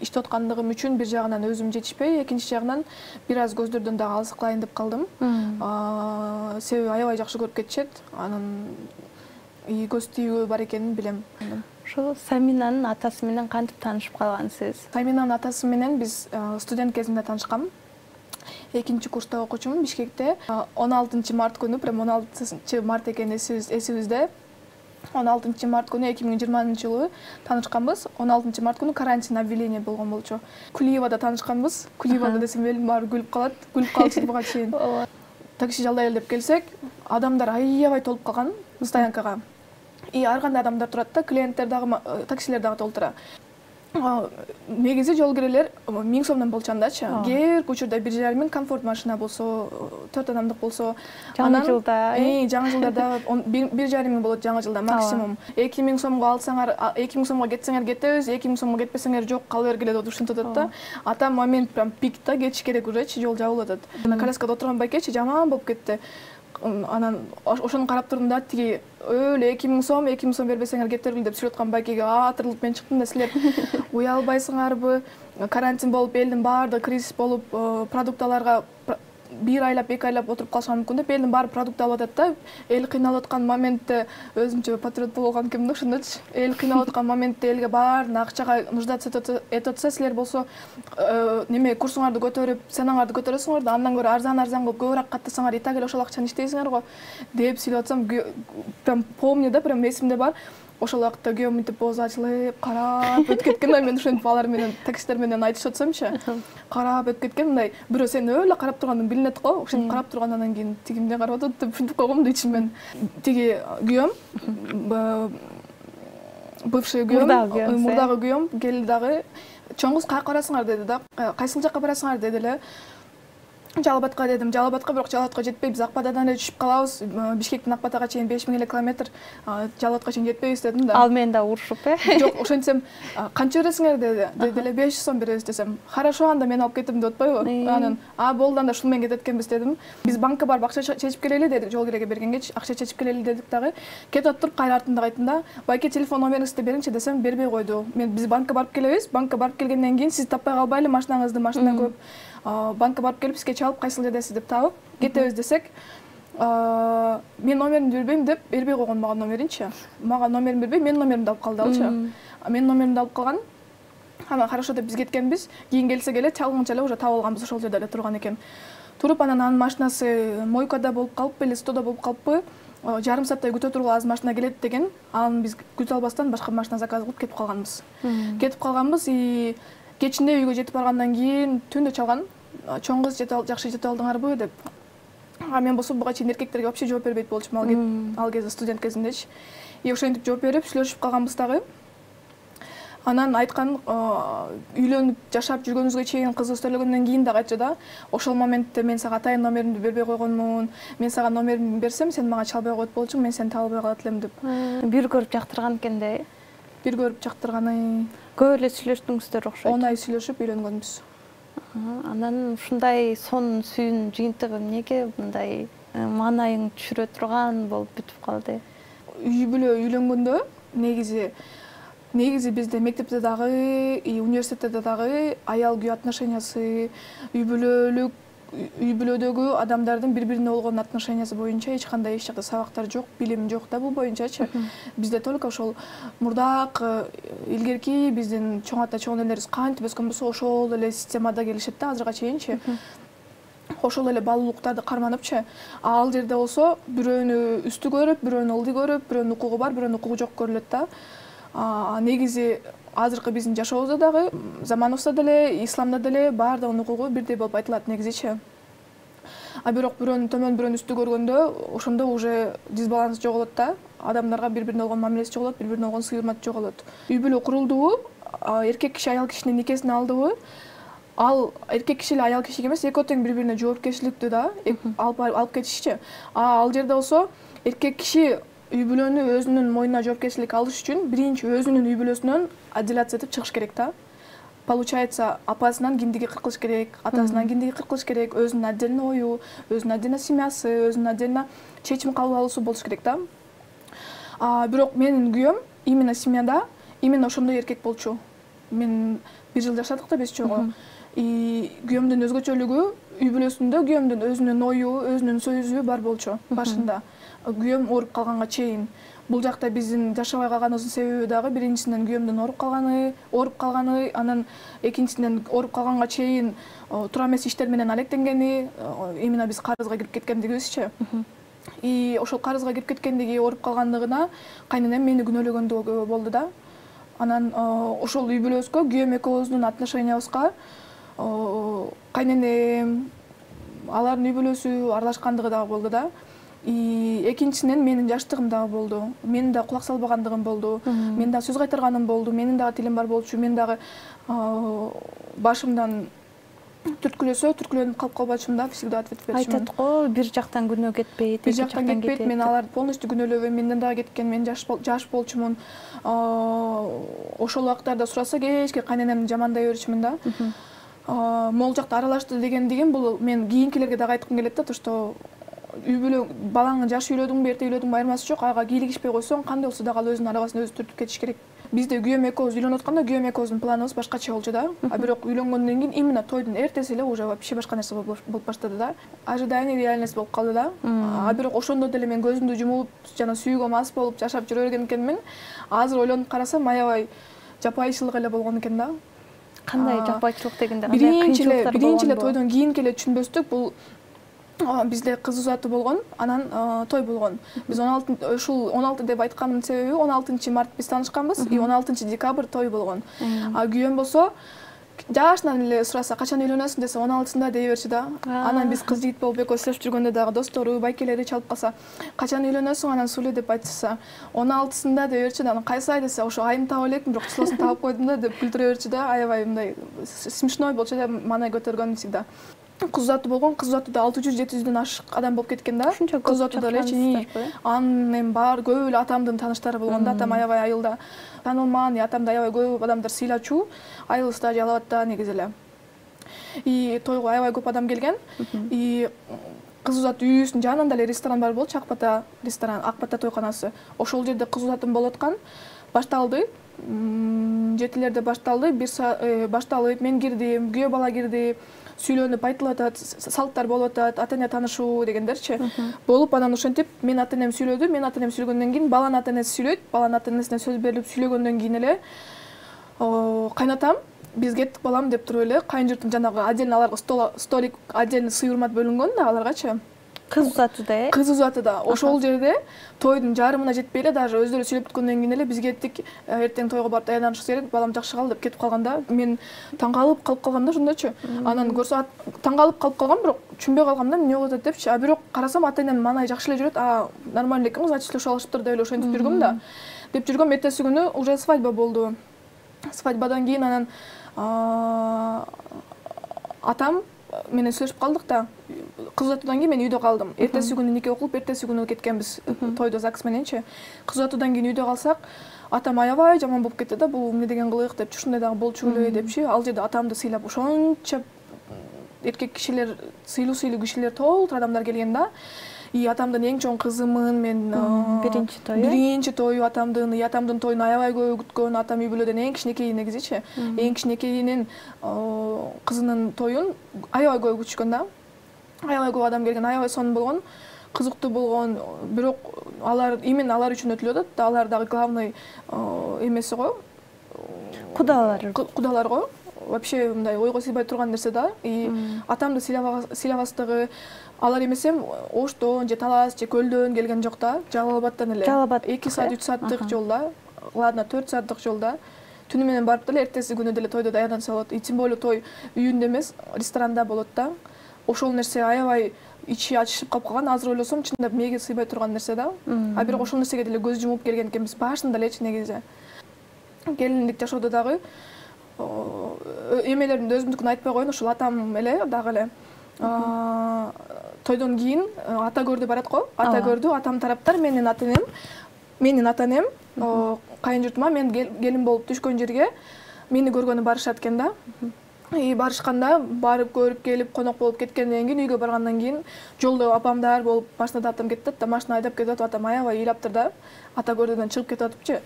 иштеп аткандыгым үчүн бир жагынан өзүм жетишпей, экинчи жагынан бир аз көздөрдөн дагы алсыкылайын деп калдым. Себеби аябай жакшы көрүп кетишет. Анын көз тийүү бар экенин билем. Ошо Саминанын атасы менен кантип таанышып калгансыз? Саминанын атасы менен биз студент кезинде таанышкам. 2-курста окуучумун Бишкекте. 16 март күнү, прям 16 март экени эсибизде. 16 март күнү 2020-жылы таанышканбыз. 16 март күнү карантин объявление болгон болчу. Кулиевада таанышканбыз. Кулиевада десем элим баары күлүп калат. Күлүп калчу буга чейин. Такси жалдай эле деп келсек, адамдар аябай толуп калган стоянкага. Ар кандай адамдар турат да, клиенттер дагы, таксилер дагы толтура. Негизи жол кирелер 1000 сомдон болчандачы. Кээ бир учурда 1,5 миң комфорт машина болсо, 4 адамдык болсо, жаңы жылда, жаңы жылдарда 1,5 миң болот жаңы жылда максимум. 2000 сомго алсаңар, 2000 сомго кетсеңер кетебиз, 2000 сомго кетпесеңер жок, кала бергиле деп ушинтип атат да. Ата момент прям пикта кетиш керек уже, жол жабылып атат. Коляскада отурган байкечи жаман болуп кетти. Анан ошону карап турдум да, тиги өлө 2000 сом бербесеңер кетиргил деп сүйлөп аткан байкеге атырылып мен чыктым да, силер уялбайсыңарбы? Карантин болуп, элдин баардыгы кризис болуп, продукталарга 1 айлап, 2 айлап отуруп калышам мүмкүн деп, элдин баары продукт алып атат да. Эл кыйналып аткан моментте өзүмчө патриот болгон кимди ошондочу. Эл кыйналып аткан моментте элге баарына акчага нуждаться этип атса, силер болсо неме курсуңарды көтөрүп, ценаңарды көтөрөсүңөр да, андан көрө арзан кылып көбүрөөк каттасаңар, и так эле ошол акчаны иштейсиңер го деп сүйлөп атсам, прям помню да, прям эсимде бар. Ошол убакта күйөөм мынтип боозу ачылып, карап өтүп кеткен да, мен ошентип алар менен, таксисттер менен айтышып атсамчы, карап өтүп кеткен, мындай бирөө сени өлө карап тургандын билинет го, ошентип карап тургандан кийин тиги эмне карап атат деп ушинтип койгом да ичимден. Тиги күйөөм, бывший күйөөм, мурдагы күйөөм келди дагы, чоң кыз каяка барасыңар деди да, кайсыл жакка барасыңар деди эле. Жалал Абадка дедим. Жалал Абадка, бирок Жалал Абадка жетпей, биз Акбатадан эле түшүп калабыз. Бишкектен Акбатага чейин 5000 эле километр. Жалал Абадка чейин жетпейбиз дедим да. Ал менен да урушуп, Жок, ошентсем, канча бересиңер деди. Деди эле 500 сом беребиз десем. Хорошо, анда мен алып кетем деп атпайбы? Анан, болду, анда ушул менен кетет экенбиз дедим. Биз банкка барып акча чечип келели дедик, жол киреге бергенгечи, акча чечип келели дедик дагы. Кетип атып, кайра артында кайттым да. Байке, телефон номериңизди бериңчи десем, бербей койду. Биз банкка барып келебиз. Банкка барып келгенден кийин сизди таппай калбайлы, машинаңызды, машина көп. Банкка барып келип, бизге чалып, кайсыл жердесиз деп табып, кетебиз десек, мен номеримди бербейм деп бербей койгон мага номеринчи. Мага номерин бербей, менин номеримди алып калды алчы. Менин номеримди алып калган. Анан хорошо деп биз кеткенбиз. Кийин келсе келе чалгынча эле уже таап алганбыз, ошол жерде эле турган экен. Туруп, анан анын машинасы мойкада болуп калыппы эле, стода болуп калыппы. Жарым сааттай күтө тургула, азыр машина келет деген. Анан биз күтө албастан башка машина заказ кылып кетип калганбыз. И кечинде үйгө жетип баргандан кийин түндө чалган. Чоң кыз жакшы жетип алдыңарбы деп. Мен болсо буга чейин эркектерге вообще жооп бербейт болчумун, ал кезде студент кезиндечи. И ошентип жооп берип сүйлөшүп калганбыз дагы. Анан айткан, үйлөнүп жашап жүргөнүбүзгө чейин кызы өстөрүлгөндөн кийин дагы айтчу да, ошол моментте мен сага атайын номеримди бербей койгонмун. Мен сага номеримди берсем, сен мага чалбай коет болчуң, мен сени таба албай калат элем деп. Бир көрүп жактырган экен да. Бир көрүп жактырганы. Көп эле сүйлөштүңүздөр окшойт. 10 ай сүйлөшүп үйлөнгөнбүз. Анан ушундай сонун сүйүүнүн жыйынтыгы эмнеге мындай маанайың түшүрө турган болуп бүтүп калды? Үй бүлө үйлөнгөндө негизи бизде мектепте дагы, университетте дагы аял күйөө отношениясы, үй бүлөдөгү адамдардын бири-бирине болгон отношениясы боюнча эч кандай сабактар жок, билим жок да бул боюнчачы. Бизде только ошол мурдак илгерки биздин чоң ата чоң энелерибиз кантип өскөн болсо, ошол эле системада келишет да азыркыга чейинчи. Ошол эле баалуулуктарды карманыпчы. Ал жерде болсо бирөөнү үстү көрүп, бирөөнү ылдый көрүп, бирөөнүн укугу бар, бирөөнүн укугу жок көрүлөт да. Негизи азыркы биздин жашообузда дагы, заманыбызда деле, исламда деле баардыгынын укугу бирдей болуп айтылат негизичи. Бирок бирөөнүн төмөн, бирөөнүн үстү көргөндө, ошондо уже дисбаланс жоголот да. адамдарга бири бирине болгон мамилеси жоголот, бири бирине болгон сый-урматы жоголот. Үй бүлө курулдубу, эркек киши аял кишинин никесин алдыбы, ал эркек киши эле аял кишиге эмес, экөө тең бири бирине жоопкерчиликтүү да алып кетишчи. Ал жерде болсо эркек киши үй бүлөнү өзүнүн мойнуна жоопкерчилик алыш үчүн биринчи өзүнүн үй бүлөсүнөн отделяция этип чыгыш керек да. Получается, апасынан киндиги кыркылыш керек, атасынан киндиги кыркылыш керек, өзүнүн отдельно ою, өзүнүн отдельно семьясы, өзүнүн отдельно чечим кабыл алуусу болуш керек да. Бирок менин күйөөм именно семьяда именно ошондой эркек болчу. Мен 1 жыл жашадык да беш чогуу. Күйөөмдүн өзгөчөлүгү үй бүлөсүндө күйөөмдүн өзүнүн ою, өзүнүн сөзү бар болчу башында. Күйөөм ооруп калганга чейин. Бул жакта биздин жашабай калганыбыздын себеби дагы биринчисинен күйөөмдүн ооруп калганы, анан экинчисинен ооруп калганга чейин туура эмес иштер менен алектенгени, именно биз карызга кирип кеткендигибизчи. Ошол карызга кирип кеткендиги, ооруп калгандыгына кайненем мени күнөөлөгөндүгү болду да. Анан ошол үй бүлөбүзгө күйөөм экөөбүздүн отношениябызга кайненем, алардын үй бүлөсү аралашкандыгы дагы болду да. Экинчисинен менин жаштыгым дагы болду. Менин да кулак салбагандыгым болду. Мен да сөз кайтарганым болду. Менин дагы тилим бар болчу. Мен дагы башымдан түрткүлөнүп калып калбачумун да, всегда ответ берчүмүн. Айтат го, бир жактан күнөө кетпейт, бир жактан кетпейт. Мен аларды полностью күнөөлөбөйм. Менден дагы кеткен, мен жаш болчумун. Ошол убактарда сураса кечке кайненемди жамандай берчүмүн да. Могул жакта аралашты дегендигим бул мен кийинкилерге дагы айткым келет да, то что үй бүлө балаңы жаш үйлөдүңбү, эрте үйлөдүңбү айырмасы жок. Ага кийлигишпей койсоң, кандай болсо дагы ал өзүнүн арабасын өзү түртүп кетиш керек. Бизде күйөөм экөөбүз үйлөнүп атканда күйөөм экөөбүздүн планыбыз башкача болчу да. Бирок үйлөнгөндөн кийин именно тойдун эртеси эле уже вообще башка нерсе болуп баштады да. Ожидание реальность болуп калды да. Бирок ошондо деле мен көзүмдү жумуп, жана сүйүүгө мас болуп жашап жүрө берген экенмин. Азыр ойлонуп карасам, аябай жапайычылык эле болгон экен да. Кандай жапайычылык дегенде кандай кыйынчылыктар болгон? Биринчи эле тойдон кийинки эле түшүнбөстүк. Бул бизде кыз узатуу болгон, анан той болгон. Биз 16 деп айткандын себеби 16-март биз таанышканбыз, 16-декабрь той болгон. Күйөөм болсо жашынан эле сураса, качан үйлөнөсүң десе 16-сында дей берчү да. Анан биз кыз жигит болуп экөөбүз сүйлөшүп жүргөндө дагы достору, байкелери чалып калса, качан үйлөнөсүң анан сүйлө деп айтса, 16-сында дей берчү да. Анан кайсы ай десе, ошо айын таап элекмин, бирок числосун таап койдум да деп күлдүрө берчү да. Аябай мындай смешной болчу да, маанай көтөргөн всегда. Кыз узатуу болгон, кыз узатууда 600-700дөн ашык адам болуп кеткен да. Кыз узатууда элечи. Анын эми бар көп эле атамдын тааныштары болгон да. Атам аябай айылда таанылман, атамды аябай көп адамдар сыйлачу. Айылыбыз да Жалал абадта негизи эле. Тойго аябай көп адам келген. Кыз узатуу үйүбүздүн жанында эле ресторан бар болчу, Акбата ресторан, Акбата тойканасы. Ошол жерде кыз узатуум болуп аткан. Башталды. 7-лерде башталды. Башталып мен кирдим, күйөө бала кирди. Сүйлөнүп айтылып атат, салттар болуп атат, ата-эне таанышуу дегендерчи. Болуп анан ошентип мен ата-энем сүйлөдү, мен ата-энем сүйлөгөндөн кийин баланын ата-энеси сүйлөйт, баланын ата-энесине сөз берилип сүйлөгөндөн кийин эле кайнатам биз кеттик балам деп туруп эле кайын журттун жанагы отдельно аларга столик отдельно сый-урмат бөлүнгөн да аларгачы. Кыз узатууда, Кыз узатууда. Ошол жерде тойдун жарымына жетпей эле, даже өздөрү сүйлөп бүткөндөн кийин эле биз кеттик. Эртең тойго барып даярданышыбыз керек, балам жакшы кал деп кетип калганда, мен таң калып калгам да ошондочу. Анан көрсө таң калып калгам, бирок түшүнбөй калгам да, эмне болуп атат депчи. Бирок карасам ата-энем маанай жакшы эле жүрөт. Нормально экен, значит ошол алышыптыр деп эле ошентип жүргөм да. Деп жүргөм, эртеси күнү уже свадьба болду. Свадьбадан кийин анан атам менен сүйлөшүп калдык да. Кыз узатуудан кийин мен үйдө калдым. Эртеси күнү нике окулуп, эртеси күнү кеткенбиз тойдо ЗАГС мененчи. Кыз узатуудан кийин үйдө калсак, атам аябай жаман болуп кетти да. Бул эмне деген кылык депчи, ушундай дагы болчу беле депчи. Ал жерде атамды сыйлап ошончо эркек кишилер, сыйлуу кишилер, толтур адамдар келген да. Атамдын эң чоң кызымын мен. Биринчи тою атамдын, атамдын тоюн аябай көп күткөн. Атам үй бүлөдөн эң кичинекей негизичи. Эң кичинекейинин кызынын тоюн аябай көп күтүшкөн да. Аябай көп адам келген, аябай сонун болгон, кызыктуу болгон. Бирок именно алар үчүн өтүлүп атат да. Алар дагы главный эмеси го. Кудалар го. Вообще мындай ойго сыйбай турган нерсе да. Атамды сыйлабастыгы, алар эмесем Оштон же Талас же Көлдөн келген жок да. Жалал Абадтан эле. 2 саат 3 сааттык жолда, ладно 4 сааттык жолда. Түнү менен барып деле эртеси күнү деле тойдо даярданса болот. Тем более той үйүндө эмес, ресторанда болот да. Ошол нерсе аябай ичи ачышып калып калган. Азыр ойлосом чындап мээге сыйбай турган нерсе да. А бирок ошол нерсеге деле көз жумуп келген экенбиз башында элечи негизи. Келиндик жашоодо дагы эмелеримди өзүмдүкүн айтпай коеюн, ошол атам эле дагы эле тойдон кийин ата көрдү барат го. Ата көрдү, атам тараптар менин ата энем кайын журтума мен келин болуп түшкөн жерге мени көргөнү барышат экен да. Барышканда барып көрүп келип конок болуп кеткенден кийин үйгө баргандан кийин жолдо апамдар болуп башында да атам кетип да машина айдап кетип атып, атам аябай ыйлаптыр да. Ата көрдүдөн чыгып кетип атыпчы.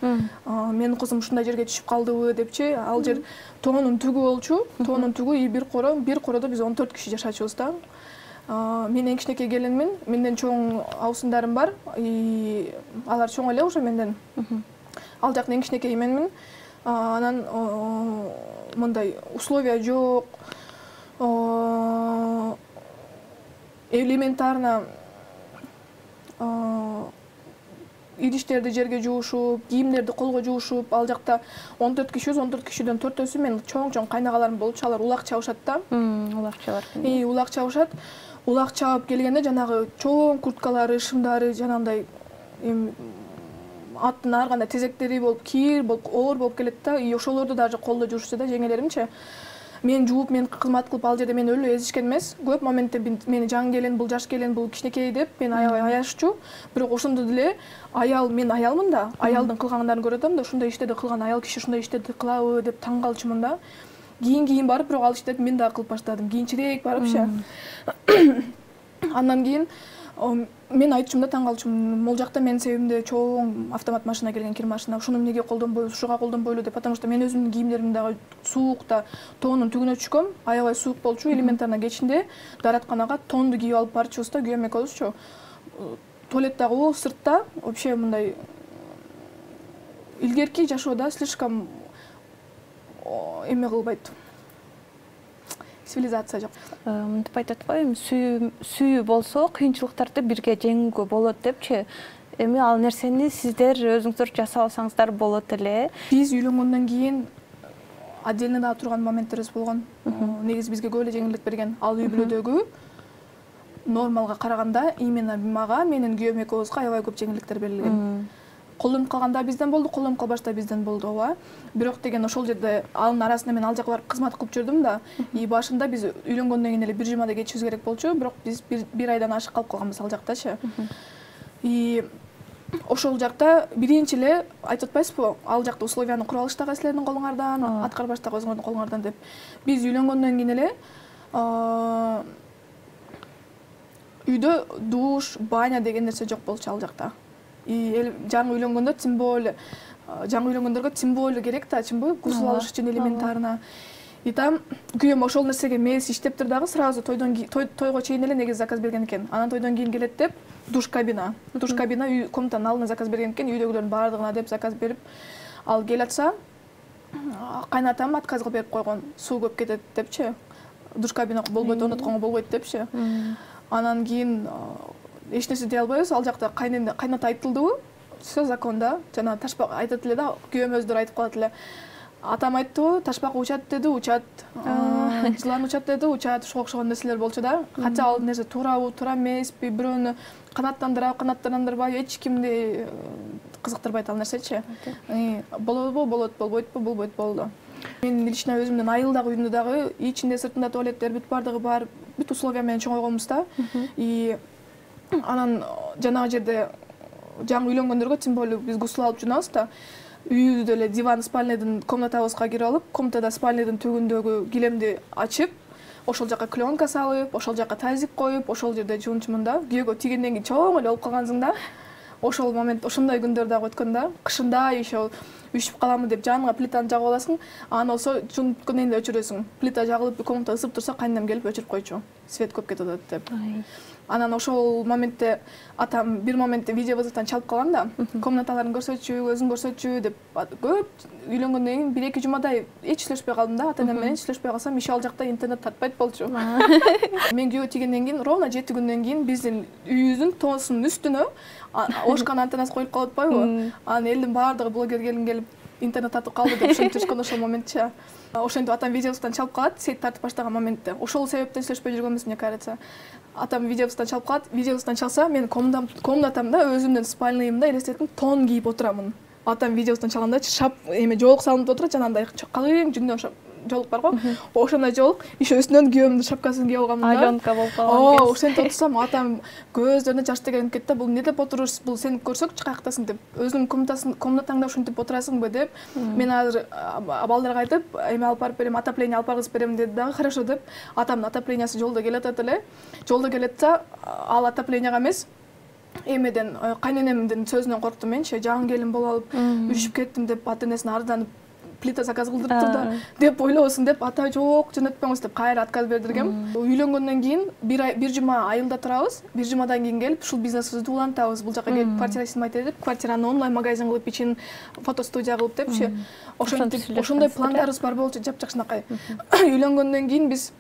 Менин кызым ушундай жерге түшүп калдыбы депчи. Ал жер тоонун түгү болчу. Тоонун түгү бир коrodо биз 14 киши жашачубуз да. Мен эң кичинекей келинмин. Менден чоң абысындарым бар. Алар чоң эле уже менден. Ал жактын эң кичинекейи менмин. Анан мындай условия жок. Элементарно идиштерди жерге жуушуп, кийимдерди колго жуушуп, ал жакта 14 кишибиз, 14 кишиден 4-өсү мен чоң кайнагаларым болчу. Алар улак чабышат да. Улак чабар. Улак чабышат. Улак чабып келгенде жанагы чоң курткалары, шымдары, жанагындай аттын ар кандай тезектери болуп, кийир болуп, оор болуп келет да. Ошолорду даже колдо жуушчу да жеңелеримчи. Мен жууп, мен кызмат кылып ал жерде мени өлө эзишкен эмес. Көп моментте мени жан келин, бул жаш келин, бул кичинекей деп мени аябай аяччу. Бирок ошондо деле мен аялмын да. Аялдын кылгандарын көрүп атам да, ушундай иштерди кылган аял киши ушундай иштерди кылабы деп таң калчумун да. Кийин барып, бирок ал иштерди мен дагы кылып баштадым. Кийинчерээк барыпчы. Андан кийин мен айтчумун да, таң калчумун. Могул жакта менин себебимде чоң автомат машина келген, кир машина. Ушуну эмнеге колдонбойбуз, ушуга колдонбойлу деп, потому что мен өзүмдүн кийимдеримди дагы суукта тоонун түгүнө түшкөм. Аябай суук болчу. Элементарно кечинде дааратканага тонду кийип алып барчубуз да, күйөөм экөөбүзчү. Туалеттагы сыртта вообще мындай илгерки жашоодо слишком эме кылбайт. Цивилизация жок. Мынтип айтат го, эми сүйүү болсо кыйынчылыктарды бирге жеңүүгө болот депчи. Эми ал нерсени сиздер өзүңүздөр жасап алсаңыздар болот эле. Биз үйлөнгөндөн кийин отдельно да турган моменттерибиз болгон. Негизи бизге көп эле жеңилдик берген. Ал үй бүлөдөгү нормалга караганда именно мага, менин күйөөм экөөбүзгө аябай көп жеңилдиктер берилген. Колдонуп калганда бизден болду, колдонуп калбашта бизден болду, ооба. Бирок деген ошол жерде анын арасында мен ал жака барып кызмат кылып жүрдүм да. Башында биз үйлөнгөндөн кийин эле бир жумада кетишибиз керек болчу, бирок биз бир айдан ашык калып калганбыз ал жактачы. Ошол жакта биринчи эле айтып атпайсызбы, ал жакта условияны куруп алыш дагы силердин колуңардан, аткарбаш дагы өзүңөрдүн колуңардан деп. Биз үйлөнгөндөн кийин эле үйдө душ, баня деген нерсе жок болчу ал жакта. Жаңы үйлөнгөндө тем более жаңы үйлөнгөндөргө тем более керек да, чынбы? Гусул алыш үчүн элементарно. Там күйөөм ошол нерсеге мээси иштептир дагы, сразу тойго чейин эле негизи заказ берген экен. Анан тойдон кийин келет деп душ кабина үй комнатанын алдына заказ берген экен, үйдөгүлөрдүн баардыгына деп заказ берип, ал келе атса кайнатам отказ кылып берип койгон. Суу көп кетет депчи. Душ кабина болбойт, орнотконго болбойт депчи. Анан кийин эч нерсе дей албайбыз. Ал жакта кайната айтылдыбы? Всё законда. Жана ташпак айтат эле да, күйөөм өздөрү айтып калат эле. Атам айтты, ташпак учат деди, учат. Жылан учат деди, учат. Ушуга окшогон нерселер болчу да. Кача ал нерсе туурабы, туура эмеспи, бирөөнү канаттандырабы, канаттандырбайбы, эч кимди кызыктырбайт ал нерсечи. Болобу, болот, болбойтпу, болбойт, болду. Мен лично өзүмдүн айылдагы үйүмдө дагы ичинде сыртында туалеттер бүт бардыгы бар, бүт условия менен чоңойгонбуз да. Анан жанагы жерде жаңы үйлөнгөндөргө тем более биз гусул алып жунабыз да. Үйүбүздө эле диван спальныйдын комнатабызга кирип алып, комнатада спальныйдын түбүндөгү килемди ачып, ошол жака клёнка салып, ошол жака тазик коюп, ошол жерде жуунчумун да. Күйөөгө тийгенден кийин чоң эле болуп калгансың да. Ошол момент, ошондой күндөр дагы өткөн да. Кышында еще үшүп каламын деп жаныңа плитаны жагып аласың, анан болсо жуунуп бүткөндөн кийин өчүрөсүң. Плита жагылып, комната ысып турса, кайненем келип өчүрүп койчу. Свет көп кетип атат деп. Анан ошол моментте атам бир моментте видеовызовтан чалып калган да. Комнаталарын көрсөтчү, өзүң көрсөтчү деп көп үйлөнгөндөн кийин 1-2 жумадай эч сүйлөшпөй калдым да. Ата-энем менен сүйлөшпөй калсам, иши ал жакта интернет тартпайт болчу. Мен күйөөгө тийгенден кийин ровно 7 күндөн кийин биздин үйүбүздүн тоосунун үстүнө ошкан антеннасы коюлуп калып атпайбы? Анан элдин баардыгы блогер келин келип интернет тартып калды деп ушинтип жүргөн ошол моментчи. Ошентип атам видеосунан чалып калат, сеть тартып баштаган моментте. Ошол себептен сүйлөшпөй жүргөнбүз, мне кажется. Атам видеосунан чалып калат, видеосунан чалса, мен комнатамда өзүмдүн спальныйымда элестетим тон кийип отурамын. Атам видеосунан чалганда шап эме жоолук салынып отурат, жанагындай калың жүндөн жоолук бар го. Ошондой жоолук, иши үстүнөн күйөөмдүн шапкасын кийип алганмын да. Аленка болуп калган. Ошентип отурсам, атам көздөрүнө жаш тегелип кетти. Бул эмне деп отурурсуң? Бул сени көрсөкчү каяктасың деп. Өзүңдүн комнатаңда ушинтип отурасыңбы деп. Мен азыр балдарга айтып, эме алып барып берем, отопление алып баргызып берем деди дагы. Хорошо деп. Атамдын отоплениясы жолдо келатат эле. Жолдо келатса, ал отопленияга эмес, эмеден кайненемдин сөзүнөн корктум менчи. Жаңы келин болуп алып, үшүп кеттим деп ата-энесине арызданып плита заказ кылдырыптыр да деп ойлобосун деп ата жок жөнөтпөңүз деп кайра отказ бердиргем. Үйлөнгөндөн кийин бир жума айылда турабыз. Бир жумадан кийин келип ушул бизнесибизди улантабыз. Бул жака келип квартира снимать этип, квартираны онлайн магазин кылып, ичин фотостудия кылып депчи. Ошондой пландарыбыз бар болчу, жапжакшынакай. Үйлөнгөндөн кийин биз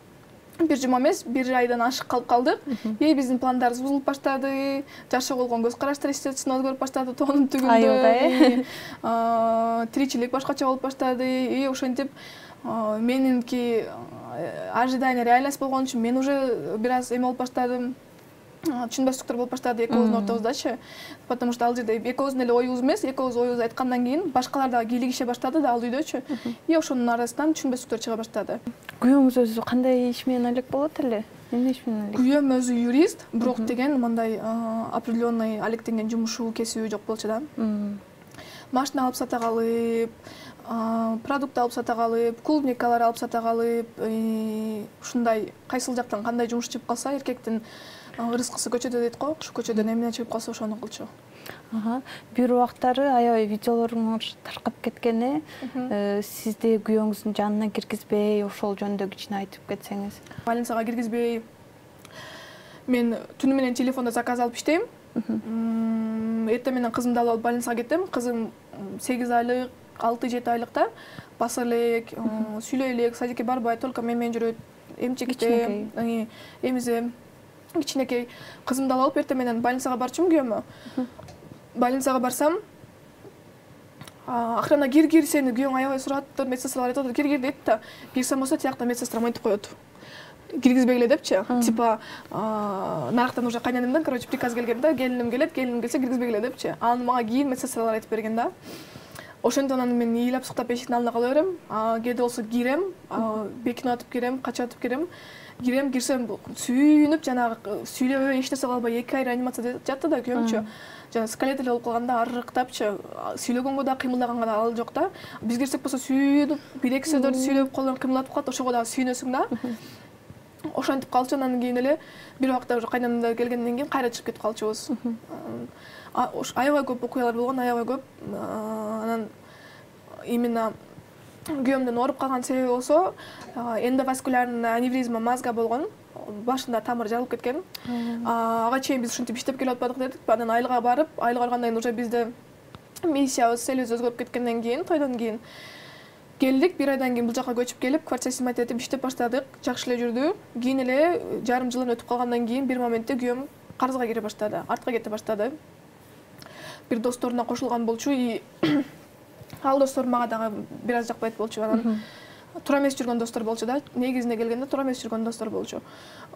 бир жума эмес, бир айдан ашык калып калдык. Биздин пландарыбыз бузулуп баштады. Жашоо болгон көз караштар естественно өзгөрүп баштады. Тоонун түгүндө тиричилик башкача болуп баштады. Ошентип менинки ожидание реальность болгон үчүн мен уже бир аз эме болуп баштадым. Түшүнбөстүктөр болуп баштады экөөбүздүн ортобуздачы. Потому что ал жерде экөөбүздүн эле оюбуз эмес, экөөбүз оюбузду айткандан кийин башкалар дагы кийлигише баштады да ал үйдөчү. Ошонун арасынан түшүнбөстүктөр чыга баштады. Күйөөңүз өзү кандай иш менен элек болот эле? Эмне иш менен элек? Күйөөм өзү юрист, бирок деген мындай определенный алектенген жумушу, кесиби жок болчу да. Машина алып сата калып, продукт алып сата калып, клубникалар алып сата калып, ушундай кайсыл жактан кандай жумуш чыгып калса, эркектин рызкысы көчөдө дейт го. Ушу көчөдөн эмне чыгып калса ошону кылчу. Бир убактары аябай видеолоруңуз таркап кеткени, сизди күйөөңүздүн жанына киргизбей, ошол жөнүндө кичине айтып кетсеңиз. Больницага киргизбей, мен түнү менен телефондо заказ алып иштейм. Эртең менен кызымды алып больницага кеттим. Кызым 8 айлык, 6-7 айлыкта. Баса элек, сүйлөй элек, садикке барбайт, только менен жүрөт. Эмчекте, эмизе кичинекей. Кызымды алып эртең менен больницага барчумун күйөөмө. Больницага барсам, охрана кир сени күйөөң аябай сураттыр, медсестралар айтат, кир дейт да. Кирсем болсо тиякта медсестра мынтип коет. Киргизбегиле депчи. Типа нарыктан уже кайненемден, короче, приказ келген да, келиним келсе киргизбегиле депчи. Аны мага кийин медсестралар айтып берген да. Ошондон анан мен ыйлап суктап эшиктин алдына кала берем. Кээде болсо кирем, бекинип атып кирем, качып атып кирем. Кирсем сүйүнүп, жанагы сүйлөбөй эч нерсе кылбай 2 ай реанимацияда жатты да күйөөмчү. Жана скелет эле болуп калганда арыктапчы, сүйлөгөнгө да кыймылдаганга да ал жок да. Биз кирсек болсо сүйүнүп, 1-2 сөздөрдү сүйлөп, колдорун кыймылдатып калат, ошого дагы сүйүнөсүң да. Ошентип калчу, анан кийин эле бир убакта уже кайненемдер келгенден кийин кайра чыгып кетип калчубуз. Аябай көп окуялар болгон, аябай көп. Анан именно күйөөмдүн ооруп калган себеби болсо эндоваскулярный аневризма мозга болгон. Башында тамыр жарылып кеткен. Ага чейин биз ушинтип иштеп келип атпадык дедик. Анан айылга барып, айылга баргандан кийин уже бизде миссиябыз, целибиз өзгөрүп кеткенден кийин, тойдон кийин келдик. Бир айдан кийин бул жака көчүп келип, квартира снимать этип иштеп баштадык. Жакшы эле жүрдү. Кийин эле жарым жылын өтүп калгандан кийин бир моментте күйөөм карызга кире баштады, артка кете баштады. Бир досторуна кошулган болчу, ал достор мага дагы бир аз жакпайт болчу. Анан туура эмес жүргөн достор болчу да. Негизине келгенде туура эмес жүргөн достор болчу.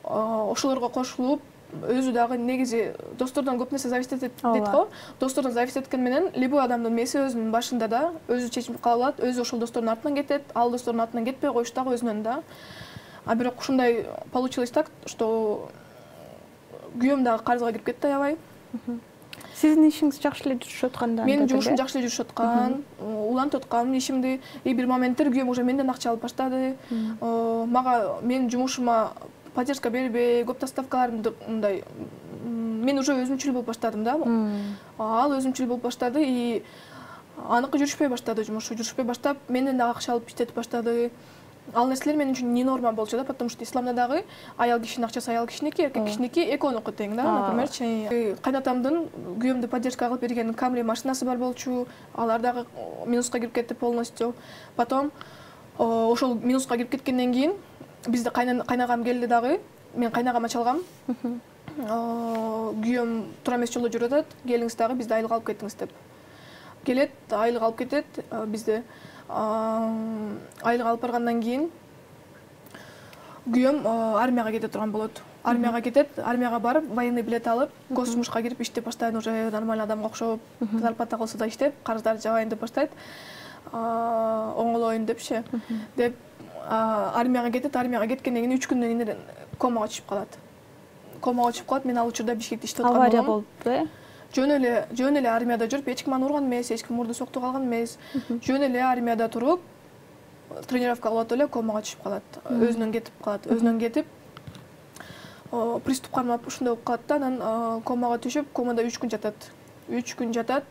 Ошолорго кошулуп, өзү дагы негизи достордон көп нерсе зависит этет дейт го. Достордон зависит эткен менен любой адамдын мээси өзүнүн башында да, өзү чечим кабыл алат, өзү ошол достордун артынан кетет, ал достордун артынан кетпей коюш дагы өзүнөн да. Бирок ушундай получилось так, что күйөөм дагы карызга кирип кетти аябай. Сиздин ишиңиз жакшы эле жүрүшүп атканда? Менин жумушум жакшы эле жүрүшүп аткан, улантып аткам ишимди. Бир моменттер күйөөм уже менден акча алып баштады. Мага менин жумушума поддержка бербей, көп доставкаларымды мындай мен уже өзүмчүл болуп баштадым да. Ал өзүмчүл болуп баштады и аныкы жүрүшпөй баштады, жумушу жүрүшпөй баштап, менден дагы акча алып иштетип баштады. Ал нерселер менин үчүн не норма болчу да, потому что исламда дагы аял кишинин акчасы аял кишиники, эркек кишиники экөөнүкү тең да, например. Кайнатамдын күйөөмдү поддержка кылып берген Camry машинасы бар болчу, алар дагы минуска кирип кетти полностью. Потом ошол минуска кирип кеткенден кийин бизде кайнагам келди дагы, мен кайнагама чалгам. Күйөөм туура эмес жолдо жүрүп атат, келиңиз дагы бизди айылга алып кетиңиз деп. келет, айлык алып кетет бизде. Айлык алып баргандан кийин күйөөм армияга кете турган болот. Армияга кетет, армияга барып, военный билет алып, госжумушка кирип иштеп баштайт, уже нормальный адамга окшоп, зарплата кылса да иштеп, карыздарды жабайын деп баштайт. Оңолоюн депчи. Деп армияга кетет, армияга кеткенден кийин 3 күндөн кийин комага түшүп калат. Комага түшүп калат. Мен ал учурда Бишкекте иштеп аткан болом. Авария болуп, Жөн эле армияда жүрүп, эч ким аны урган эмес, эч ким мурду соктук алган эмес. Жөн эле армияда туруп, тренировка кылып эле комага түшүп калат. Өзүнөн кетип калат. Өзүнөн кетип, приступ кармап ушундай болуп калат да, анан комага түшүп, комада 3 күн жатат. 3 күн жатат.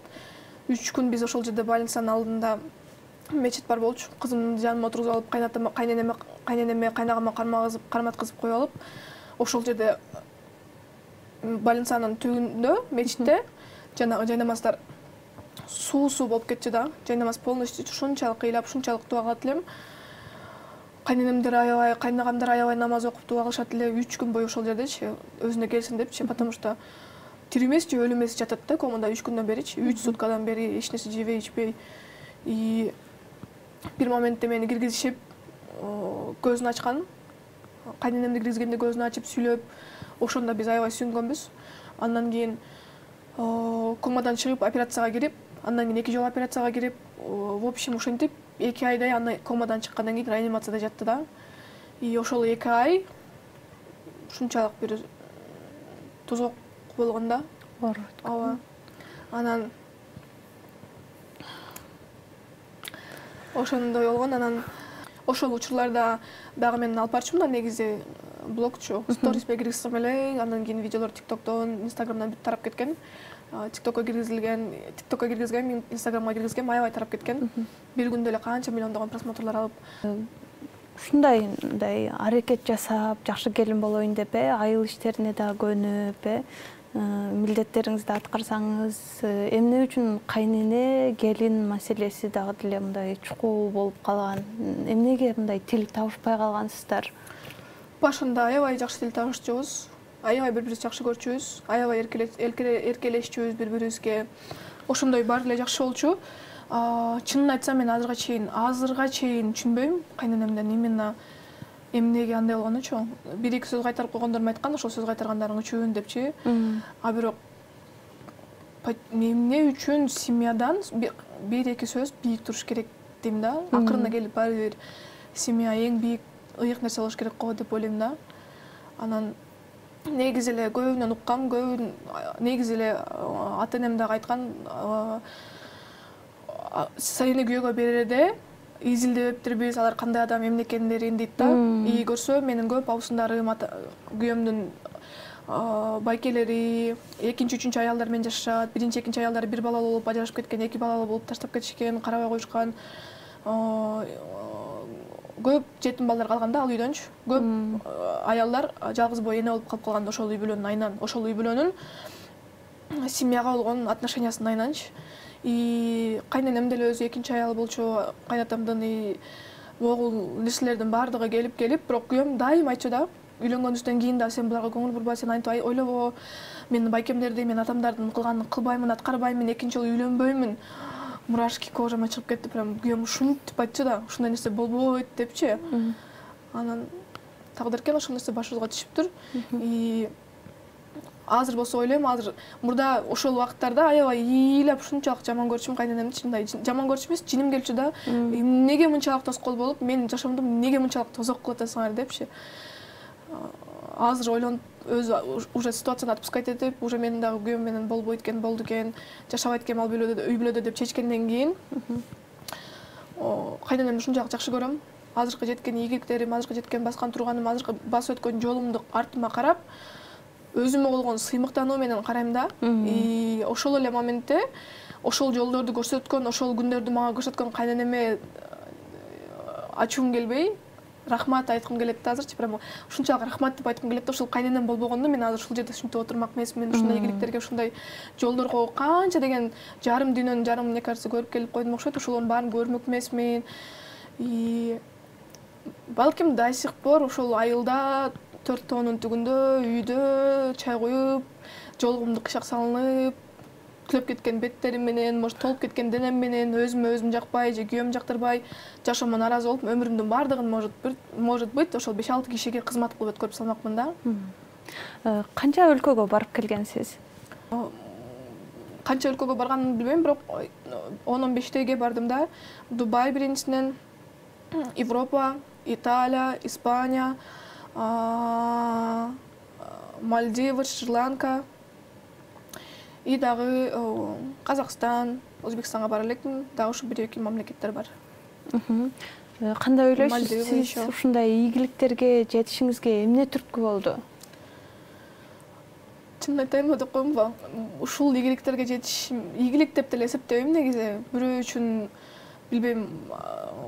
3 күн биз ошол жерде больницанын алдында мечит бар болчу. Кызымды жаныма отургузуп алып, кайненеме, кайнагама карматкызып коюп алып, ошол жерде больницанын түбүндө, мечитте жанагы жайнамаздар суу болуп кетчү да. Жайнамаз полностью ушунчалык ыйлап, ушунчалык дуа кылат элем. Кайненемдер аябай, кайнагамдар аябай намаз окуп дуа кылышат эле 3 күн бою ошол жердечи, өзүнө келсин депчи, потому что тирүү эмес же өлү эмес жатат да комада 3 күндөн беричи, 3 суткадан бери эч нерсе жебей, ичпей. И бир моментте мени киргизишип, көзүн ачкан. Кайненемди киргизгенде көзүн ачып сүйлөп, ошондо биз аябай сүйүнгөнбүз. Андан кийин комадан чыгып операцияга кирип, андан кийин 2 жолу операцияга кирип, в общем ошентип 2 айдай аны комадан чыккандан кийин реанимацияда жатты да. И ошол 2 ай ушунчалык бир тозок болгон да. Ооба. Анан ошондой болгон, анан ошол учурларда дагы мен алып барчумун да, негизи блогчу. Сториске киргизсем эле, андан кийин видеолор TikTok'тон, Instagram'дан бүт тарап кеткен. TikTok'ка киргизилген, Instagram'га киргизген, аябай тарап кеткен. Бир күндө эле канча миллиондогон просмотрлар алып. Ушундай аракет жасап, жакшы келин болоюн деп, айыл иштерине да көнүп, милдеттериңизди аткарсаңыз, эмне үчүн кайнене келин маселеси дагы деле мындай чукул болуп калган? Эмнеге мындай тил табышпай калгансыздар? Башында аябай жакшы тил табышчубуз, аябай бири-бирибизди жакшы көрчүбүз, аябай эркелешчүбүз бири-бирибизге. Ошондой баары эле жакшы болчу. Чынын айтсам, мен азырга чейин түшүнбөйм кайненемден именно эмнеге андай болгонучу. 1-2 сөз кайтарып койгондорум айткан, ошол сөз кайтаргандарың үчүн депчи. А бирок эмне үчүн семьядан 1-2 сөз бийик туруш керек дейм да. Акырына келип баары бир семья эң бийик ыйык нерсе болуш керек го деп ойлойм да. Анан негизи эле көбүнөн уккам, негизи эле ата-энем дагы айткан, сени күйөөгө берерде изилдебептирбиз, алар кандай адам эмне экендерин дейт да. И көрсө менин көп абысындарым, күйөөмдүн байкелери, 2-3 аялдар менен жашашат. 1-2 аялдары бир балалуу болуп ажырашып кеткен, 2 балалуу болуп таштап кетишкен, карабай коюшкан. Көп жетим балдар калган да ал үйдөнчү. Көп аялдар жалгыз бой эне болуп калып калган ошол үй бүлөнүн айынан, ошол үй бүлөнүн семьяга болгон отношениясынын айнанчы. И кайненем деле өзү 2 аялы болчу, кайнатамдын и могул нерселердин баардыгы келип, бирок күйөөм дайым айтчу да, үйлөнгөнүбүздөн кийин да сен буларга көңүл бурба, сен антип ойлобо, мен байкемдерди, мен атамдардын кылганын кылбаймын, аткарбаймын, 2 жолу үйлөнбөймүн. Мурашки кожама чыгып кетти, прям күйөөм ушинтип айтчу да, ушундай нерсе болбойт депчи. Анан тагдыркен ошол нерсе башыбызга түшүптүр. И азыр болсо ойлойм, азыр мурда ошол убакыттарда аябай ыйлап ушунчалык жаман көрчүмүн кайненемди, чындай жаман көрчү эмес, жиним келчү да. Эмнеге мынчалык тоскоол болуп, менин жашоомду эмнеге мынчалык тозок кылып атасыңар депчи. Азыр ойлонуп өзү уже ситуацияны отпускать этип, уже менин дагы күйөөм менен болбойт экен, болду экен, жашабайт экен ал үй бүлөдө деп чечкенден кийин кайненемди ушунчалык жакшы көрөм. Азыркы жеткен ийгиликтерим, азыркы жеткен баскан турганым, азыркы басып өткөн жолумду артыма карап, өзүмө болгон сыймыктануу менен карайм да. И ошол эле моментте ошол жолдорду көрсөткөн, ошол күндөрдү мага көрсөткөн кайненеме ачуум келбей, рахмат айткым келет да азырчы. Прямо ушунчалык рахмат деп айткым келет да. Ошол кайненем болбогондо мен азыр ушул жерде ушинтип отурмак эмесмин. Ушундай ийгиликтерге, ушундай жолдорго канча деген жарым дүйнөнүн жарымын, мне кажется, көрүп келип койдум окшойт. Ошолордун баарын көрмөк эмесмин. И балким до сих пор ошол айылда 4 тоонун түгүндө үйдө чай коюп, жолугумду кышак салынып, түлөп кеткен беттерим менен, может толуп кеткен денем менен, өзүмө өзүм жакпай же күйөөм жактырбай жашоомон нааразы болуп, өмүрүмдүн баардыгын может быть ошол 5-6 кишиге кызмат кылып өткөрүп салмакмын да. Канча өлкөгө барып келгенсиз? Канча өлкөгө барганымды билбейм, бирок 10-15 бардым да. Дубай биринчисинен, Европа, Италия, Испания, Мальдивы, Шри-Ланка и дагы Казакстан, Өзбекстанга бара электим. Дагы ушу 1-2 мамлекеттер бар. Кандай ойлойсуз, сиз ушундай ийгиликтерге жетишиңизге эмне түрткү болду? Чынын айтайынбы деп коеюнбу? Ушул ийгиликтерге жетиш ийгилик деп деле эсептебейм негизи. Бирөө үчүн билбейм,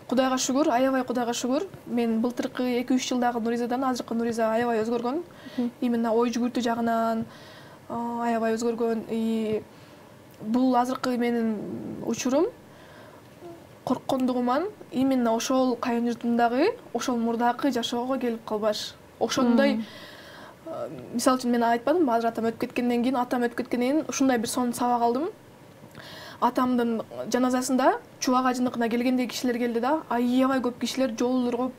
Кудайга шүгүр, аябай Кудайга шүгүр. Мен былтыркы 2-3 жылдагы Нуризадан азыркы Нуриза аябай өзгөргөн. Именно ой жүгүртүү жагынан аябай өзгөргөн. И бул азыркы менин учурум корккондугуман именно ошол кайын журтумдагы, ошол мурдакы жашоого келип калбаш. Ошондой мисалы үчүн мен айтпадымбы, азыр атам өтүп кеткенден кийин ушундай бир сонун сабак алдым. Атамдын жаназасында Чубак ажыныкына келгендей кишилер келди да, аябай көп кишилер жолдорго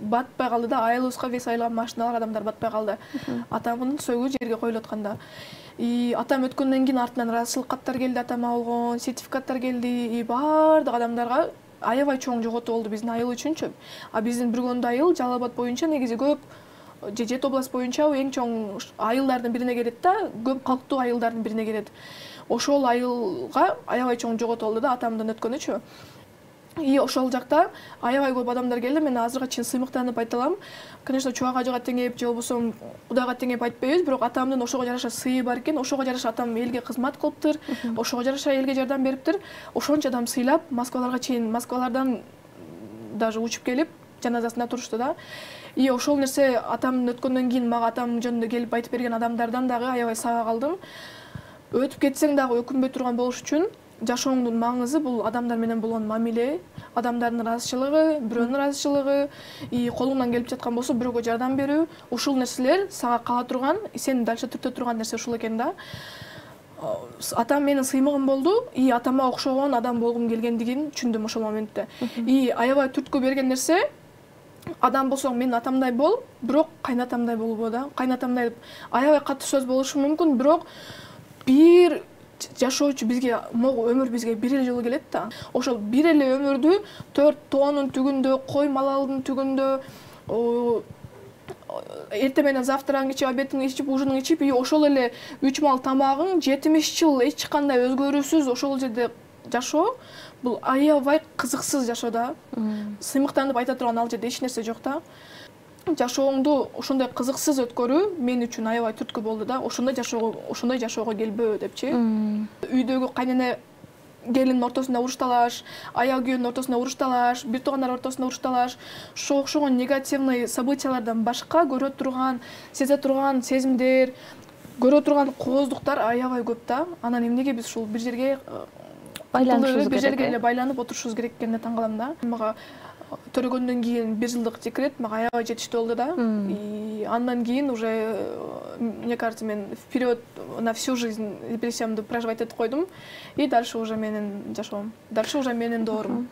батпай калды да, айылыбызга вес айылга машиналар, адамдар батпай калды. Атамдын сөөгү жерге коюлуп атканда. И атам өткөндөн кийин артынан ыраазычылык каттар келди, атама болгон сертификаттар келди. И баардык адамдарга аябай чоң жоготуу болду биздин айыл үчүнчү. А биздин Бүргөндө айыл Жалал Абад боюнча негизи көп, же Жети область боюнча эң чоң айылдардын бирине кирет да, көп калктуу айылдардын бирине кирет. Ошол айылга аябай чоң жоготуу болду да, атамдын өткөнүчү. И ошол жакта аябай көп адамдар келди. Мен азыркыга чейин сыймыктанып айта алам. Конечно, Чубак ажыга теңеп же болбосо Кудайга теңеп айтпайбыз, бирок атамдын ошого жараша сыйы бар экен. Ошого жараша атам элге кызмат кылыптыр, ошого жараша элге жардам бериптир. Ошончо адам сыйлап, Москваларга чейин, Москвалардан даже учуп келип, жаназасында турушту да. И ошол нерсе атамдын өткөндөн кийин мага атам жөнүндө келип айтып берген адамдардан дагы аябай сабак алдым. Өтүп кетсең дагы өкүнбөй турган болуш үчүн жашооңдун маңызы бул адамдар менен болгон мамиле, адамдардын ыраазычылыгы, бирөөнүн ыраазычылыгы, и колуңдан келип жаткан болсо бирөөгө жардам берүү. Ушул нерселер сага кала турган, сени дальше түртө турган нерсе ушул экен да. Атам менин сыймыгым болду, и атама окшогон адам болгум келгендигин түшүндүм ошол моментте. И аябай түрткү берген нерсе, адам болсоң менин атамдай бол, бирок кайнатамдай болбо да. Кайнатамдай аябай катуу сөз болушу мүмкүн, бирок бир жашоочу бизге өмүр бизге бир эле жолу келет да. Ошол бир эле өмүрдү 4 тоонун түгүндө, кой малалдын түгүндө, эртең менен завтраңды ичип, обедиңди ичип, ужиныңды ичип, и ошол эле 3 мал тамагың 70 жыл эч кандай өзгөрүүсүз ошол жерде жашоо, бул аябай кызыксыз жашоо да. Сыймыктанып айта турган ал жерде эч нерсе жок да. Жашооңду ошондой кызыксыз өткөрүү мен үчүн аябай түрткү болду да. Ошондой жашоого келбөө депчи. Үйдөгү кайнене келиндин ортосунда уруш талаш, аял күйөөнүн ортосунда уруш талаш, бир туугандар ортосунда уруш талаш, ошого окшогон негативный событиялардан башка көрө турган, сезе турган сезимдер, көрө турган кооздуктар аябай көп да. Анан эмнеге биз ушул бир жерге байланышыбыз бир жерге эле байланып отурушубуз керек экенине таң калам да. Мага төрөгөндөн кийин 1 жылдык декрет мага аябай жетиштүү болду да. И андан кийин уже, мне кажется, мен вперед на всю жизнь депрессиямды проживать этип койдум. И дальше уже менин жашоом, дальше уже менин доорум.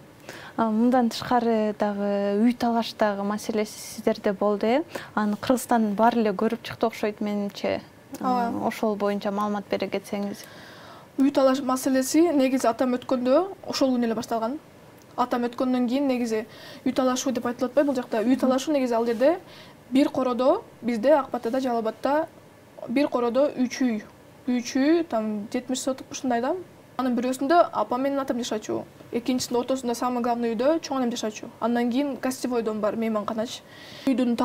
Мындан тышкары дагы үй талаштагы маселеси сиздерде болду, Аны Кыргызстан баары эле көрүп чыкты окшойт менимче. Ошол боюнча маалымат бере кетсеңиз. Үй талаш маселеси негизи атам өткөндө ошол күнү эле башталган. Атам өткөндөн кийин негизи үй талашуу деп айтылып атпайбы бул жакта? Үй талашуу негизи ал жерде бир кородо, бизде Ак Батада, Жалал Абадта бир кородо 3 үй. 3 үй, там 70 соток ушундай да. Анын бирөөсүндө апам менен атам жашачу. Экинчисинин ортосунда самый главный үйдө чоң анам жашачу. Андан кийин гостевой дом бар, мейманканач. Үйдүн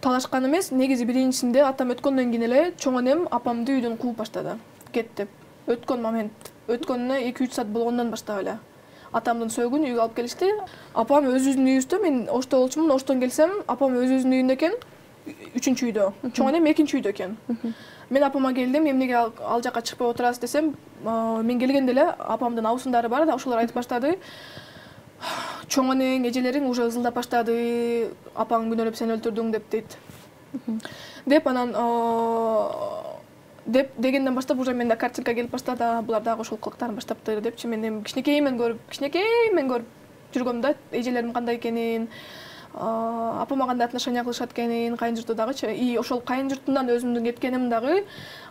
талашкан эмес, негизи биринчисинде атам өткөндөн кийин эле чоң анам апамды үйдөн кууп баштады. Кет деп. Өткөн момент, өткөнүнө 2-3 саат болгондон баштап эле. Атамдын сөөгүн үйгө алып келишти. Апам өзүнүн үйүндө, мен ошто болчумун, оштон келсем, апам өзүнүн үйүндө экен, 3-үчү үйдө. Чоң анам 2-нчи үйдө экен. Мен апама келдим, эмнеге ал жака чыкпай отурасыз десем, мен келгенде эле апамдын абысындары бар да, ошолор айтып баштады. Чоң анең, эжелериң уже ызылдап баштады, апаң күнөөлөп сени өлтүрдүң деп дейт. Деп анан деп дегенден баштап уже менде картинка келип баштады. Булар дагы ошол кылыктарын баштаптыр депчи. Мен эми кичинекеймен көрүп жүргөм да, эжелерим кандай экенин, апама кандай отношения кылышат экенин, кайын журту дагычы. И ошол кайын журтунан өзүмдүн кеткеним дагы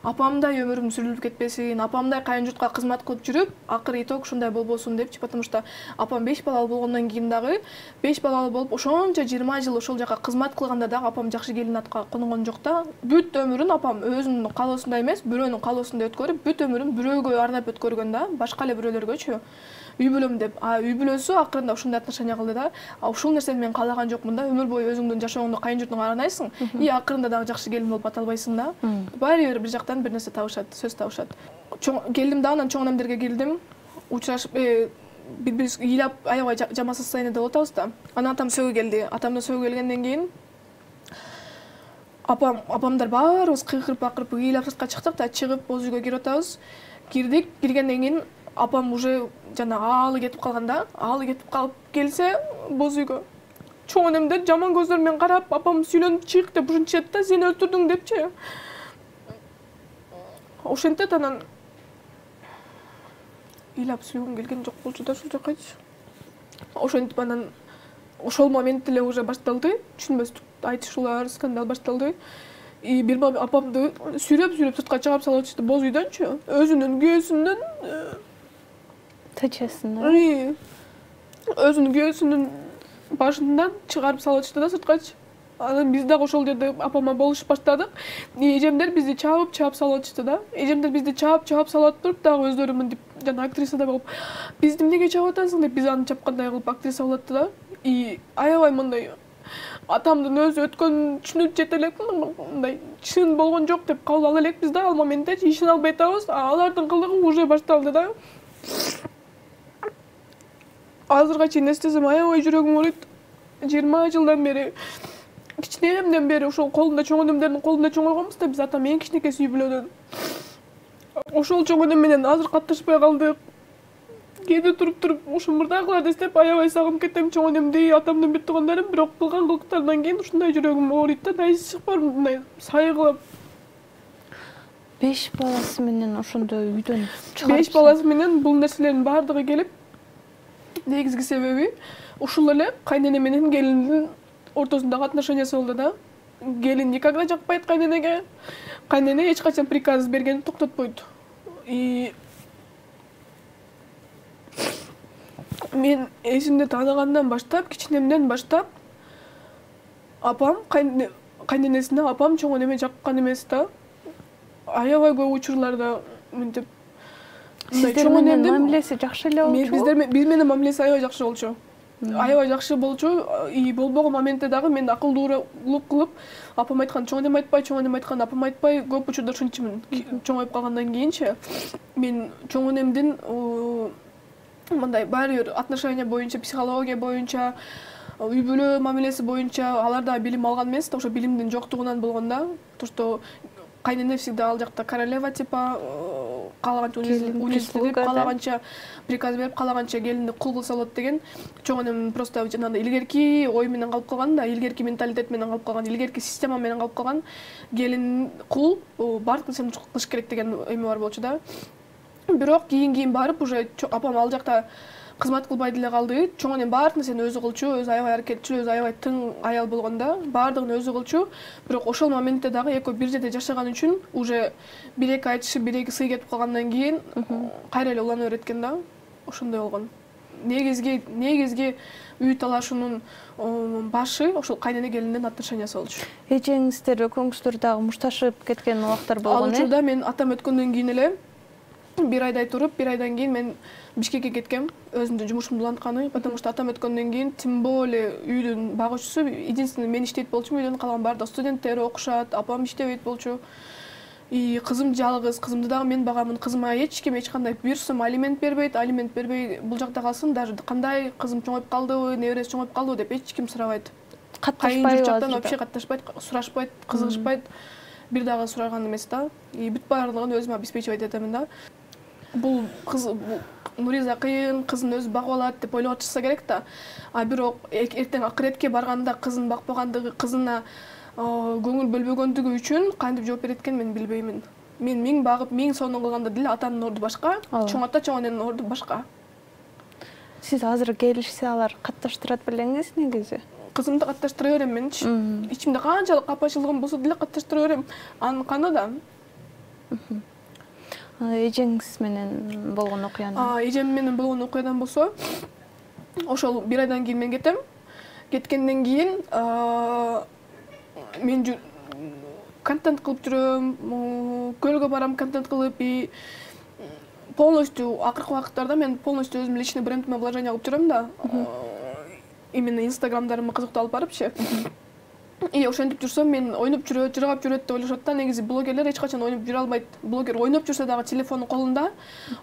апамдай өмүрүм сүрүлүп кетпесин, апамдай кайын журтка кызмат кылып жүрүп, акыры итог ушундай болбосун депчи. Потому что апам 5 балалуу болгондон кийин дагы 5 балалуу болуп ошончо 20 жыл ошол жака кызмат кылганда дагы апам жакшы келин атка конгон жок да. Бүт өмүрүн апам өзүнүн каалоосундай эмес, бирөөнүн каалоосундай өткөрүп, бүт өмүрүн бирөөгө арнап өткөргөн да, башка эле бирөөлөргөчү. Үй бүлөм деп. Үй бүлөсү акырында ушундай отношения кылды да. Ушул нерсени мен каалаган жокмун да. Өмүр бою өзүңдүн жашооңду кайын журтуңа арнайсың, и акырында дагы жакшы келин болуп ата албайсың да. Баары бир жактан бир нерсе табышат, сөз табышат. Келдим да, анан чоң энемдерге келдим. Учурашып, биз ыйлап аябай жаман состояниеде болуп атабыз да. Анан атам сөөгө келди. Атамды сөөгө келгенден кийин апамдар баарыбыз кыйкырып бакырып ыйлап сыртка чыктык да, чыгып боз үйгө кирип атабыз. Кирдик, киргенден кийин апам уже жана аалы кетип калганда, аалы кетип калып келсе боз үйгө чоң энемдер жаман көздөр менен карап, апам сүйлөнүп чык деп ушинтишет да, сени өлтүрдүң депчи. Ошентет, анан ыйлап сүйлөгүм келген жок болчу да ушул жакачы. Ошентип анан ошол момент эле уже башталды, түшүнбөстүк айтышуулар, скандал башталды. И бир апамды сүйрөп сыртка чыгарып салып атышты боз үйдөнчү, өзүнүн күйөөсүнүн тачесин. Өзүнүн күйөөсүнүн башынан чыгарып салып атышты да сырткачы. Анан биз дагы ошол жерде апама болушуп баштадык. Эжемдер бизди чаап салып атышты да. Эжемдер бизди чаап салып туруп дагы өздөрү мынтип жана актрисада болуп, бизди эмнеге чаап атасың деп биз аны чапкандай кылып актриса болуп атты да. И аябай мындай атамдын өзү өткөнүн түшүнүп жете элек, мындай чын болгон жок деп кабыл ала элекпиз да, ал моментте ишене албай атабыз. Алардын кылыгы уже башталды да. Азырга чейин эстесем аябай жүрөгүм ооруйт. 20 жылдан бери, кичинемден бери ошол колунда чоң энемдердин колунда чоңойгонбуз да, биз атам эң кичинекейси үй бүлөдөн. Ошол чоң энем менен азыр катташпай калдык. Кээде туруп ушул мурдагыларды эстеп аябай сагынып кетем чоң энемди, атамдын бүт туугандарын, бирок кылган кылыктарынан кийин ушундай жүрөгүм ооруйт да, дайысы чыкпар мындай сайгылап. 5 баласы менен ошондой үйдөн чыгарып. 5 баласы менен бул нерселердин баардыгы келип, негизги себеби ушул эле кайнене менен келиндин ортосундагы отношениясы болду да. Келин никогда жакпайт кайненеге. Кайнене эч качан приказ бергенин токтотпойт. И мен эсимди тааныгандан баштап, кичинемден баштап апам кайненесине апам чоң энеме жаккан эмес да. Аябай көп учурларда мынтип сиздер менен мамилеси жакшы эле болчу. Биз менен мамилеси аябай жакшы болчу. Аябай жакшы болчу. И болбогон моментте дагы мен акылдуулук кылып, апам айткан чоң энем айтпай, чоң энем айткан апам айтпай, көп учурда ушунчумун. Чоңоюп калгандан кийинчи мен чоң энемдин мындай баары бир отношения боюнча, психология боюнча, үй бүлө мамилеси боюнча алар да билим алган эмес да, ошо билимдин жоктугунан болгон да. То, что кайнене всегда ал жакта королева типа, каалаганча унизип, каалаганча приказ берип, каалаганча келинди кул кылса болот деген. Чоң энем просто жанагындай илгерки ой менен калып калган да, илгерки менталитет менен калып калган, илгерки система менен калып калган. Келин кул, баардык нерсени кылыш керек деген эме бар болчу да. Бирок кийин барып уже апам ал жакта кызмат кылбай деле калды. Чоң энем баардык нерсени өзү кылчу, өзү аябай аракетчил, өзү аябай тың аял болгондо баардыгын өзү кылчу. Бирок ошол моментте дагы экөө бир жерде жашаган үчүн уже бир-эки айтышып, бир-эки сый кетип калгандан кийин кайра эле улана берет экен да. Ошондой болгон. Негизги үй талашынын башы ошол кайнене келиндин отношениясы болчу. Эжеңиздер, экөөңүздөр дагы мушташып кеткен убактар болгон. Ал учурда мен атам өткөндөн кийин эле бир айдай туруп, бир айдан кийин мен Бишкекке кеткем, өзүмдүн жумушумду улантканы, потому что атам өткөндөн кийин тем более үйдүн багуучусу единственный мен иштейт болчумун, үйдөн калган баардык студенттер окушат, апам иштебейт болчу. И кызым жалгыз, кызымды дагы мен багамын. Кызыма эч ким эч кандай бир сом алимент бербейт, алимент бербей бул жакта калсын, даже кандай кызым чоңоюп калдыбы, небереси чоңоюп калдыбы деп эч ким сурабайт. Катташпайбы? Вообще катташпайт, сурашпайт, кызыгышпайт. Бир дагы сураган эмес да. И бүт баардыгын өзүм обеспечивать этемин да. Бул кыз Нуриза кыйын, кызын өзү багып алат деп ойлоп атышса керек да. А бирок эртең акыретке барганда кызын бакпагандыгы, кызына көңүл бөлбөгөндүгү үчүн кантип жооп берет экен мен билбеймин. Мен 1000 багып 1000 сомдон кылганда деле атамдын орду башка, чоң ата чоң эненин орду башка. Сиз азыр келишсе алар катташтырат белеңиз негизи? Кызымды катташтыра берем менчи. Ичимде канчалык капачылыгым болсо деле катташтыра берем. Анын каны да. Эжеңиз менен болгон окуяны? Эжем менен болгон окуядан болсо, ошол 1 айдан кийин мен кетем. Кеткенден кийин мен контент кылып жүрөм, көлгө барам контент кылып, и полностью акыркы убакыттарда мен полностью өзүм личный брендиме вложение кылып жүрөм да. Именно инстаграмдарыма кызыктуу алып барыпчы. И ошентип жүрсөм мен ойноп жүрөт, жыргап жүрөт деп ойлошот да. Негизи блогерлер эч качан ойноп жүрө албайт. Блогер ойноп жүрсө дагы телефону колунда,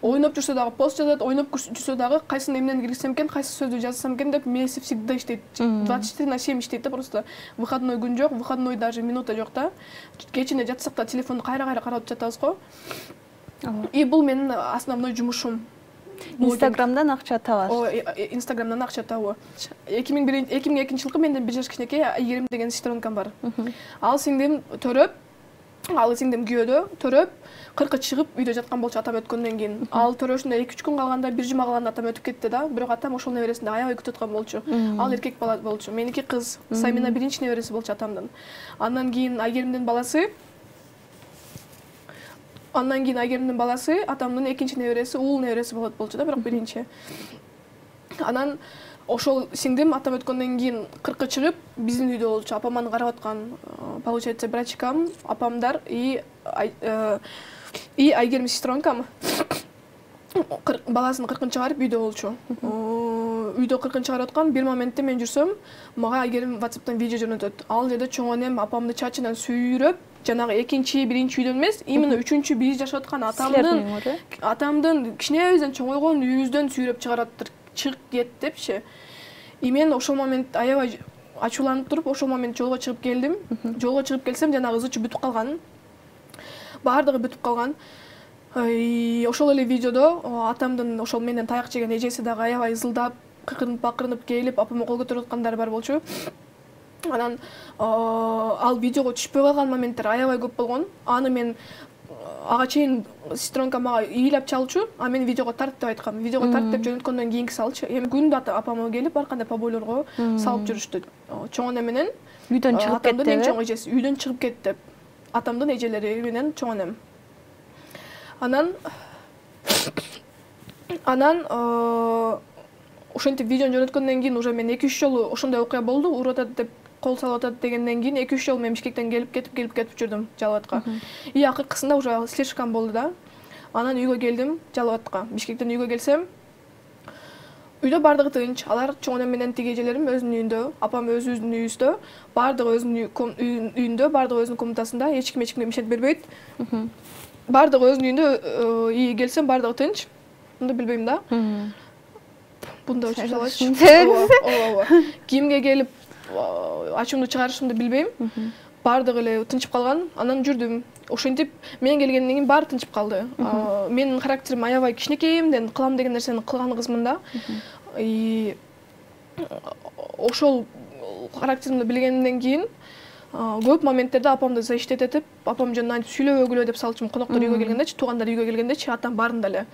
ойноп жүрсө дагы пост жазат, ойноп жүрсө дагы кайсын эмнени киргизсем экен, кайсы сөздү жазсам экен деп мээси всегда иштейт. 24/7 иштейт да, просто выходной күн жок, выходной даже минута жок да. Кечине жатсак да телефонду кайра карап жатабыз го. И бул менин основной жумушум. Инстаграмдан акча табасыз. Инстаграмдан акча табуу. 2002 жылкы менден 1 жаш кичинекей Айгерим деген сестронкам бар. Ал сиңдим төрөп, ал сиңдим күйөөдө төрөп, 40 чыгып үйдө жаткан болчу атам өткөндөн кийин. Ал төрөшүндө 2-3 күн калганда, 1 жума калганда атам өтүп кетти да. Бирок атам ошол небересинде аябай күтүп аткан болчу. Ал эркек бала болчу. Меники кыз. Самина 1-нчи небереси болчу атамдын. Андан кийин Айгеримдин баласы, атамдын 2-нчи небереси, уул небереси болот болчу да, бирок 1-нчи. Анан ошол сиңдим атам өткөндөн кийин 40 чыгып биздин үйдө болчу. Апам карап аткан, получается, брачкам, апамдар и Айгерим сестронкам баласын 40 чыгарып үйдө болчу. Үйдө 40 чыгарып аткан бир моментте мен жүрсөм, мага Айгерим WhatsApp'тан видео жөнөтөт. Ал жерде чоң энем апамды чачынан сүйрөп, жанагы 2-нчи, 1-нчи үйдөн эмес, именно 3-чү биз жашап аткан атамдын кичинебизден чоңойгон үйүбүздөн сүйрөп чыгараттыр. Чыгып кет депчи. И мен ошол момент аябай ачууланып туруп, ошол момент жолго чыгып келдим. Жолго чыгып келсем, жанагы ызычы бүтүп калган. Баардыгы бүтүп калган. Ошол эле видеодо атамдын ошол менден таяк жеген эжеси дагы аябай ызылдап, бакырынып келип, апама кол көтөрүп аткандары бар болчу. Анан ал видеого түшпөй калган моменттер аябай көп болгон. Аны мен ага чейин сестронкам мага ыйлап чалчу, а мен видеого тарт деп айткам. Видеого тарт деп жөнөткөндөн кийинки салчы. Эми күндө апама келип ар кандай побойлорго салып жүрүштү. Чоң эне менен үйдөн чыгып кетти. Атамдын эң чоң эжеси үйдөн чыгып кетти деп. Атамдын эжелери менен чоң энем. Анан ошентип видеону жөнөткөндөн кийин уже мен 2-3 жолу ошондой окуя болду, уруп атат деп кол салып атат дегенден кийин 2-3 жолу мен Бишкектен келип кетип жүрдүм Жалал-Абадка. И акыркысында уже слишком болду да. Анан үйгө келдим Жалал-Абадка. Бишкектен үйгө келсем, үйдө бардыгы тынч. Алар чоң энем менен тиги эжелерим өзүнүн үйүндө, апам өзүнүн үйүндө, бардыгы өзүнүн үйүндө, бардыгы өзүнүн комнатасында, эч кимге мишет бербейт. Бардыгы өзүнүн үйүндө, и келсем бардыгы тынч. Мындай билбейм да. Бунда өчүп салачы. Ооба. Кимге келип ачуумду чыгарышымды билбейм. Бардыгы эле тынчып калган. Анан жүрдүм. Ошентип мен келгенден кийин баары тынчып калды. Менин характерим аябай кичинекейимден кылам деген нерсени кылган кызмын да. Ошол характеримди билгенден кийин көп моменттерде апамды защитетип, апам жөнүндө айтып сүйлөбөгүлө деп салчумун. Коноктор үйгө келгендечи, туугандар үйгө келгендечи, атам баарында эле.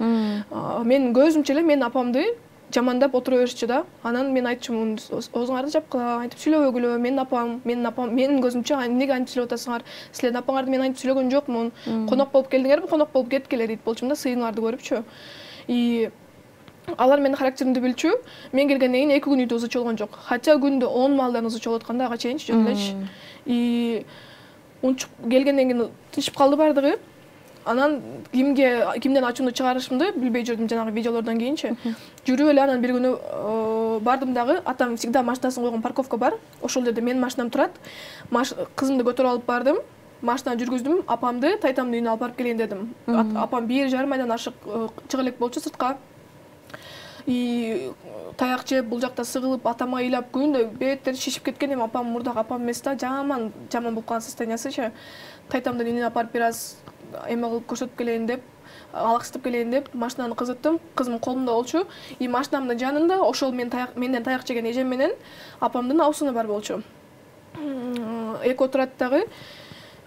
Мен көзүмчө эле мен апамды жамандап отура беришчи да. Анан мен айтчумун, оозуңарды жапкыла, айтып сүйлөбөгүлө, менин апам, менин көзүмчө эмнеге антип сүйлөп атасыңар? Силердин апаңарды мен антип сүйлөгөн жокмун. Конок болуп келдиңерби, конок болуп кеткиле дейт болчумун да, сыйыңарды көрүпчү. И алар менин характеримди билчү. Мен келгенден кийин 2 күн үйдө ызычы болгон жок. Хотя күндө 10 маалдан ызычы болуп атканда ага чейинчи жөн элечи. И унчуп келгенден кийин тынчып калды бардыгы. Анан кимден ачуумду чыгарышымды билбей жүрдүм жанагы видеолордон кийинчи. Жүрүп эле анан бир күнү бардым дагы, атам всегда машинасын койгон парковка бар. Ошол жерде менин машинам турат. Кызымды көтөрүп алып бардым. Машинаны жүргүздүм, апамды тайтамдын үйүнө алып барып келейин дедим. Апам 1,5 айдан ашык чыга элек болчу сыртка. И таяк жеп, бул жакта сыгылып, атама ыйлап, күндө беттери шишип кеткен. Эми апам мурдагы апам эмес да, жаман болуп калган состояниясычы. Тайтамдын үйүнө апарып бир аз эме кылып көрсөтүп келейин деп, алаксытып келейин деп машинаны кызыттым. Кызым колумда болчу. И машинамдын жанында ошол менден таяк жеген эжем менен апамдын абысыны бар болчу. Эки отурат дагы.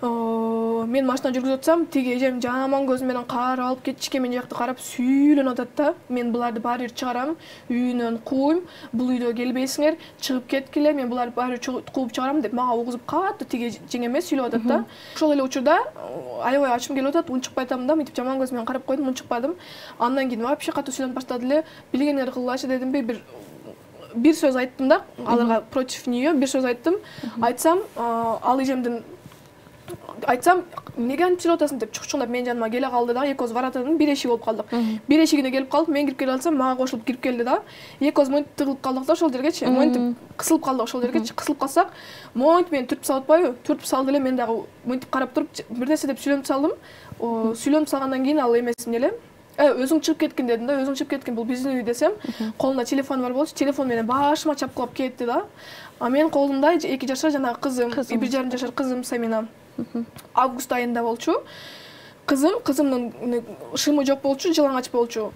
Мен машина жүргүзүп атсам, тиги эжем жаман көзү менен карап алып кетишке мен жакты карап сүйүлөнүп атат да. Мен буларды баары бир чыгарам, үйүнөн кууйм, бул үйдө келбейсиңер, чыгып кеткиле, мен буларды баары бир кууп чыгарам деп мага угузуп катты тиги жеңеме сүйлөп атат да. Ошол эле учурда аябай ачым келип атат, унчукпай атам да, мынтип жаман көз менен карап койдум, унчукпадым. Андан кийин вообще катуу сүйлөнүп баштады эле. Билгениңерди кылгылачы дедимби, бир сөз айттым да, аларга против нее бир сөз айттым. Айтсам, ал эжемдин айтсам, эмнеге антип сүйлөп атасың деп чукчуңдап менин жаныма келе калды да. Экөөбүз варатанын бир эшиги болуп калдык. Бир эшигине келип калдык, мен кирип келе алсам, мага кошулуп кирип келди да. Экөөбүз монтип тыгылып калдык да ошол жергечи. Монтип кысылып калдык ошол жергечи. Кысылып калсак, монтип мени түртүп салып атпайбы? Түртүп салды эле, мен дагы монтип карап туруп бир нерсе деп сүйлөнүп салдым. Сүйлөнүп салгандан кийин ал эмесин эле өзүң чыгып кеткин дедим да. Өзүң чыгып кеткин, бул биздин үй десем, колунда телефон бар болчу. Телефон менен башыма чапкылап кетти да. А менин колумда 2 жашар жанагы кызым, 1,5 жашар кызым Самина. Август айында болчу. Кызымдын шымы жок болчу, жылаңач болчу.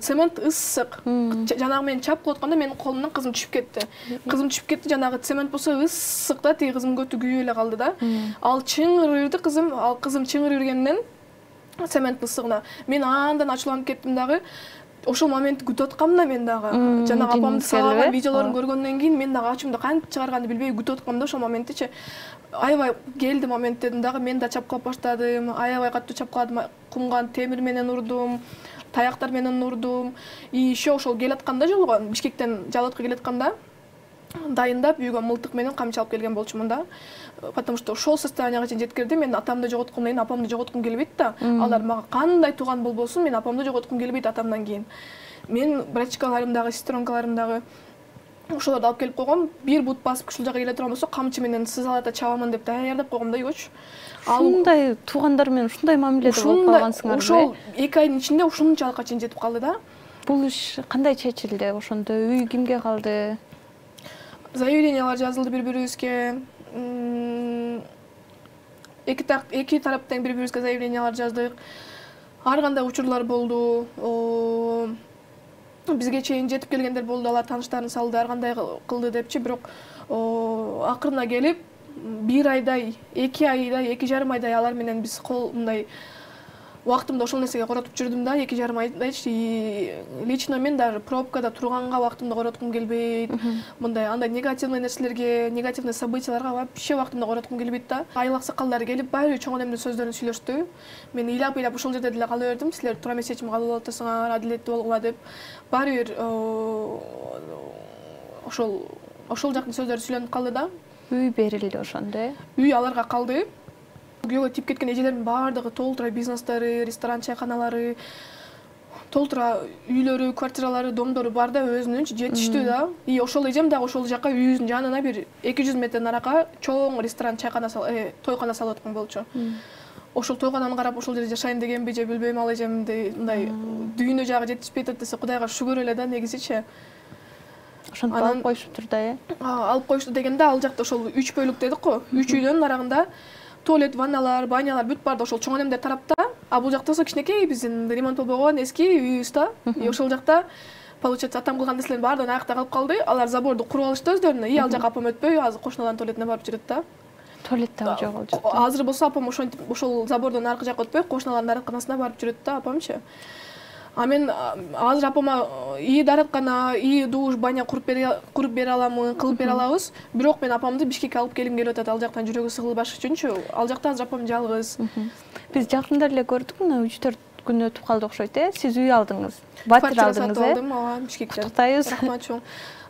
Цемент ысык. Жанагы менен чапкылап атканда менин колумдан кызым түшүп кетти. Кызым түшүп кетти, жанагы цемент болсо ысык да, тиги кызымдын көтү күйүп эле калды да. Ал чыңырырды кызым, ал кызым чыңырып жүргенден цементтин ысыгына мен андан ачууланып кеттим дагы. Ошол моментти күтүп аткам да мен дагы. Жанагы апамдын салган видеолорун көргөндөн кийин мен дагы ачымды кантип чыгарганды билбей күтүп аткам да ошол моменттичи. Аябай келди момент дедим дагы, мен да чапкылап баштадым. Аябай катуу чапкыладым, кумган темир менен урдум, таяктар менен урдум. И еще ошол келатканда жолго Бишкектен Жалатка келатканда дайындап үйгө мылтык менен камчы алып келген болчумун да. Потому что ошол состоянияга чейин жеткирди. Мен атамды жоготкумдан кийин апамды жоготкум келбейт да. Алар мага кандай тууган болбосун, мен апамды жоготкум келбейт атамдан кийин. Мен братчикаларым дагы, сестренкаларым дагы ошолорду алып келип койгом. Бир бут басып ушул жака келе турган болсо, камчы менен сызалата чабамын деп даярдап койгом да үйгөчү. Ушундай туугандар менен ушундай мамиледе болуп калгансыңарбы? Ошол 2 айдын ичинде ушунчалыкка чейин жетип калды да. Бул иш кандай чечилди? Ошондо үй кимге калды? Заявлениялар жазылды бири-бирибизге. Эки тараптан бири-бирибизге заявлениялар жаздык. Ар кандай учурлар болду. Бизге чейин жетип келгендер болду, алар тааныштарын салды, ар кандай кылды депчи. Бирок акырына келип 1 айдай, 2 айдай, 2,5 айдай алар менен биз мындай убактымды ошол нерсеге коротуп жүрдүм да, 2,5 айдайчы. Лично мен даже пробкада турганга убактымды короткум келбейт. Мындай андай негативный нерселерге, негативный событияларга вообще убактымды короткум келбейт да. Айыл аксакалдары келип, баары чоң энемдин сөздөрүн сүйлөштү. Мен ыйлап ушул жерде деле кала бердим. Силер туура эмес чечим кабыл алып атасыңар, адилеттүү болгула деп. Баары бир ошол жактын сөздөрү сүйлөнүп калды да. Үй берилди ошондо. Үй аларга калды. Күйөөгө тип кеткен эжелердин баардыгы толтура бизнестери, ресторан, чайканалары, толтура үйлөрү, квартиралары, домдору бар да, өзүнүнчү жетиштүү да. И ошол эжем дагы ошол жака үйүбүздүн жанына бир 200 метр наракка чоң ресторан, чайкана, тойкана салып аткан болчу. Ошол тойкананы карап ошол жерде жашайын дегенби же билбейм, ал эжемди мындай дүйнө жагы жетишпей атат десе Кудайга шүгүр эле да, негизичи. Ошентип алып коюшуптур да, алып коюшту дегенде ал жакта ошол 3 бөлүк дедик го. 3 үйдөн нарагында туалет, ванналар, банялар бүт бар да, ошол чоң энемдер тарапта. А бул жакта кичинекей биздин ремонт болбогон эски үйүбүз да. И ошол жакта получается атам кылган нерселердин баардыгы аякта калып калды. Алар заборду куруп алышты өздөрүнө. И ал жака апам өтпөй, азыр кошуналардын туалетине барып жүрөт да. Туалет дагы жоголду. Азыр болсо апам ошол забордон аркы жака өтпөй, кошуналардын арканасына барып жүрөт да, апамчы. А мен азыр апама и дараткана, и душ, баня куруп бере аламын, кылып бере алабыз. Бирок мен апамды Бишкекке алып келгим келип атат, ал жактан жүрөгү сыгылбаш үчүнчү. Ал жакта азыр апам жалгыз. Биз жакында эле көрдүк, мына 3-4 күн өтүп калды окшойт, Сиз үй алдыңыз. Батир алдыңыз, алдым, Бишкектен. Куттуктайбыз.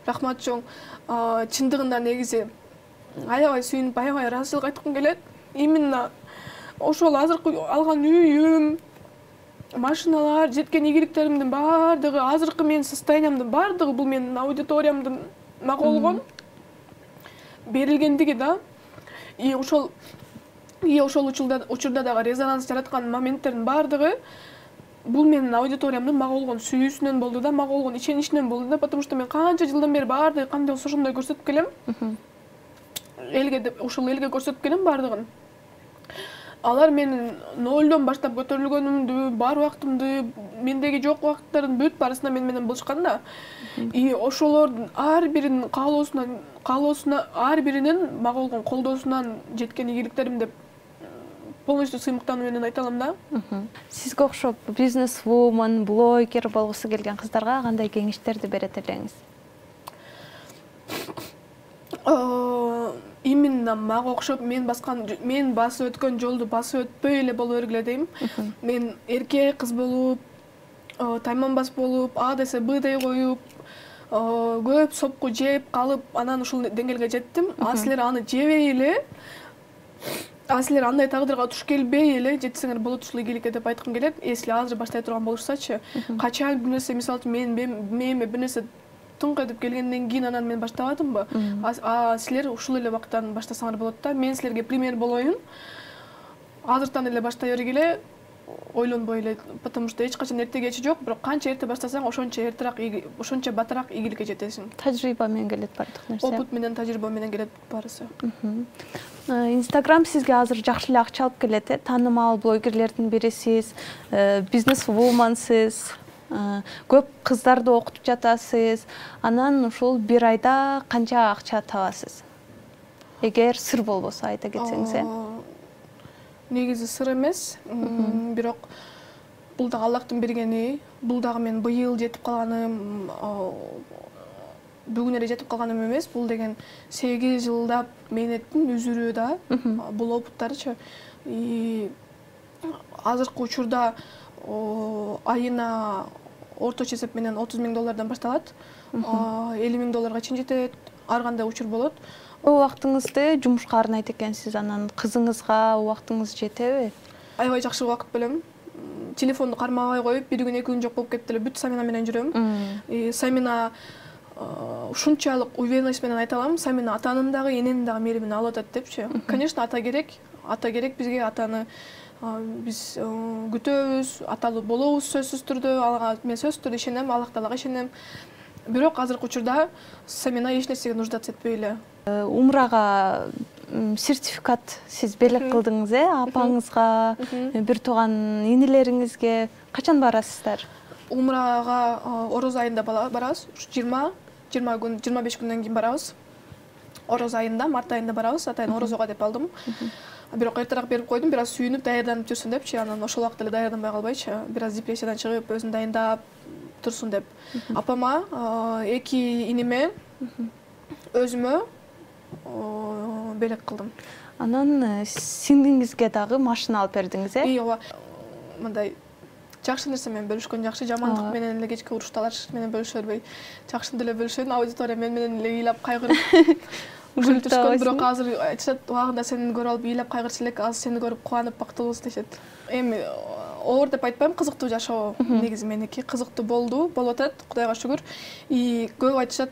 Рахмат чоң. Чындыгында негизи аябай сүйүнүп, аябай ыраазычылык айткым келет. Именно ошол азыркы алган үйүм, машиналар, жеткен ийгиликтеримдин баардыгы, азыркы менин состояниямдын баардыгы бул менин аудиториямдын мага болгон берилгендиги да. И ошол учурда дагы резонанс жараткан моменттердин баардыгы бул менин аудиториямдын мага болгон сүйүүсүнөн болду да, мага болгон иченичинен болду да, потому что мен канча жылдан бери баардыгы кандай болсо ошондой көрсөтүп келем. Элге деп ошол элге көрсөтүп келем баардыгын. Алар менин нолдон баштап көтөрүлгөнүмдү, бар убактымды, мендеги жок убакыттардын бүт баарысына менен болушкан да. И ошолордун ар биринин каалоосуна, ар биринин мага болгон колдоосунан жеткен ийгиликтерим деп полностью сыймыктануу менен айта алам да. Сизге окшоп бизнес-вумен, блогер болгусу келген кыздарга кандай кеңештерди берет элеңиз? Именно мага окшоп мен басып өткөн жолду басып өтпөй эле боло бергиле дейм. Мен эркек кыз болуп, тайманбас болуп, А десе Б дей коюп, көп сопку жеп калып, анан ушул деңгээлге жеттим. А силер аны жебей эле, силер андай тагдырга туш келбей эле жетсеңер болот ушул ийгиликке деп айткым келет. Если азыр баштай турган болушсачы, качан бир нерсе, мисалы үчүн мээме бир нерсе тыңк этип келгенден кийин анан мен баштабадымбы? Силер ушул эле убактан баштасаңар болот да. Мен силерге пример болоюн. Азыртан эле баштай бергиле, ойлонбой эле, потому что эч качан эрте кечи жок, бирок канча эрте баштасаң, ошончо батыраак ийгиликке жетесиң. Тажрыйба менен келет бардык нерсе. Опыт менен, тажрыйба менен келет баарысы. Инстаграм сизге азыр жакшы эле акча алып келет, таанымал блогерлердин бирисиз, бизнес-вуменсиз, көп кыздарды окутуп жатасыз. Анан ушул бир айда канча акча табасыз? Эгер сыр болбосо айта кетсеңиз. Негизи сыр эмес, бирок бул дагы Аллахтын бергени, бул дагы мен быйыл жетип калганым, бүгүн эле жетип калганым эмес, бул деген 8 жылдап мээнеттин үзүрүү да, бул опыттарчы. Азыркы учурда айына орточо эсеп менен $30,000 башталат, $50,000 чейин жетет, ар кандай учур болот. Убактыңызды жумушка арнайт экенсиз, анан кызыңызга убактыңыз жетеби? Аябай жакшы убакыт бөлөм. Телефонду кармабай коюп, бир күн 2 күн жок болуп кетти эле, бүт Самина менен жүрөм. Самина ушунчалык уверенность менен айта алам, Самина атанын дагы, эненин дагы мээримин алып атат депчи. Конечно, ата керек бизге, атаны биз күтөбүз, аталуу болобуз сөзсүз түрдө, ага мен сөзсүз түрдө ишенем, Аллах Таалага ишенем. Бирок азыркы учурда Самина эч нерсеге нуждаться этпей эле. Умрага сертификат сиз белек кылдыңыз, апаңызга, бир тууган инелериңизге качан барасыздар? Умрага Ороз айында барабыз. 25 күндөн кийин барабыз. Ороз айында, март айында барабыз. Атайын Орозого деп алдым. Бирок эртерээк берип койдум, бир аз сүйүнүп, даярданып жүрсүн депчи. Анан ошол убакта эле даярданбай калбайчы. Бир аз депрессиядан чыгып, өзүн дайындап турсун деп. Апама, 2 инеме, өзүмө белек кылдым. Анан сиңдиңизге дагы машина алып бердиңиз, ооба. Мындай жакшы нерсе менен бөлүшкөн жакшы, жамандык менен эле кечки урушталар менен бөлүшө бербей, жакшыны деле бөлүшөйүн. Аудитория менен эле ыйлап кайгырып күлүп, бирок азыр айтышат, убагында сени көрүп алып ыйлап кайгырчу элек, азыр сени көрүп кубанып бактылуубуз дешет. Эми оор деп айтпайм, кызыктуу жашоо негизи меники, кызыктуу болуп атат, Кудайга шүгүр. Көп айтышат,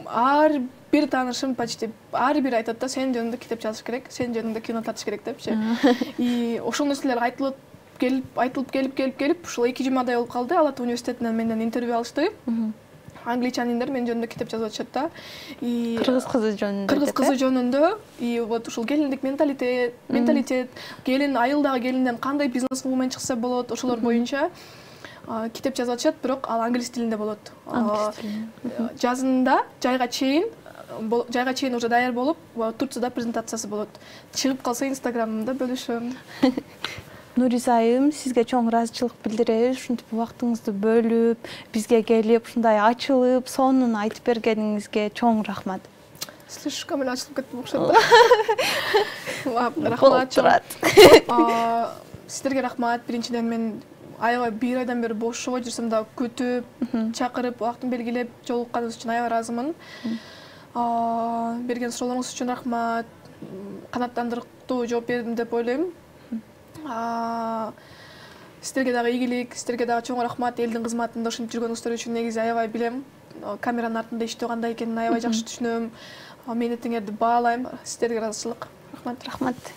ар бир таанышым почти ар бир айтат да, сенин жөнүндө китеп жазыш керек, сенин жөнүндө кино тартыш керек депчи. Ошол нерселер айтылып келип, ушул 2 жумадай болуп калды. Ала Ата университетинен менден интервью алышты. Англичаниндер мен жөнүндө китеп жазып атышат да. Кыргыз кызы жөнүндө. Кыргыз кызы жөнүндө. Вот ушул келиндик менталитет, келин айылдагы келинден кандай бизнес-вумен чыкса болот, ошолор боюнча китеп жазып атышат, бирок ал англис тилинде болот. Жазында жайга чейин уже даяр болуп, Турцияда презентациясы болот. Чыгып калса Инстаграмымда бөлүшөм. Нуриза айым, сизге чоң ыраазычылык билдиребиз. Ушинтип убактыңызды бөлүп, бизге келип, ушундай ачылып, сонун айтып бергениңизге чоң рахмат. Слишком эле ачылып кеттим окшойт да. Рахмат. Сиздерге рахмат. Биринчиден мен аябай бир айдан бери бошобой жүрсөм да күтүп, чакырып, убактын белгилеп жолукканыңыз үчүн аябай ыраазымын. Берген суроолоруңуз үчүн рахмат. Канааттандырыктуу жооп бердим деп ойлойм. Сиздерге дагы ийгилик, сиздерге дагы чоң рахмат. Элдин кызматында ушинтип жүргөнүңүздөр үчүн негизи аябай билем. Камеранын артында иштөө кандай экенин аябай жакшы түшүнөм. Мээнетиңерди баалайм. Сиздерге ыраазычылык. Рахмат.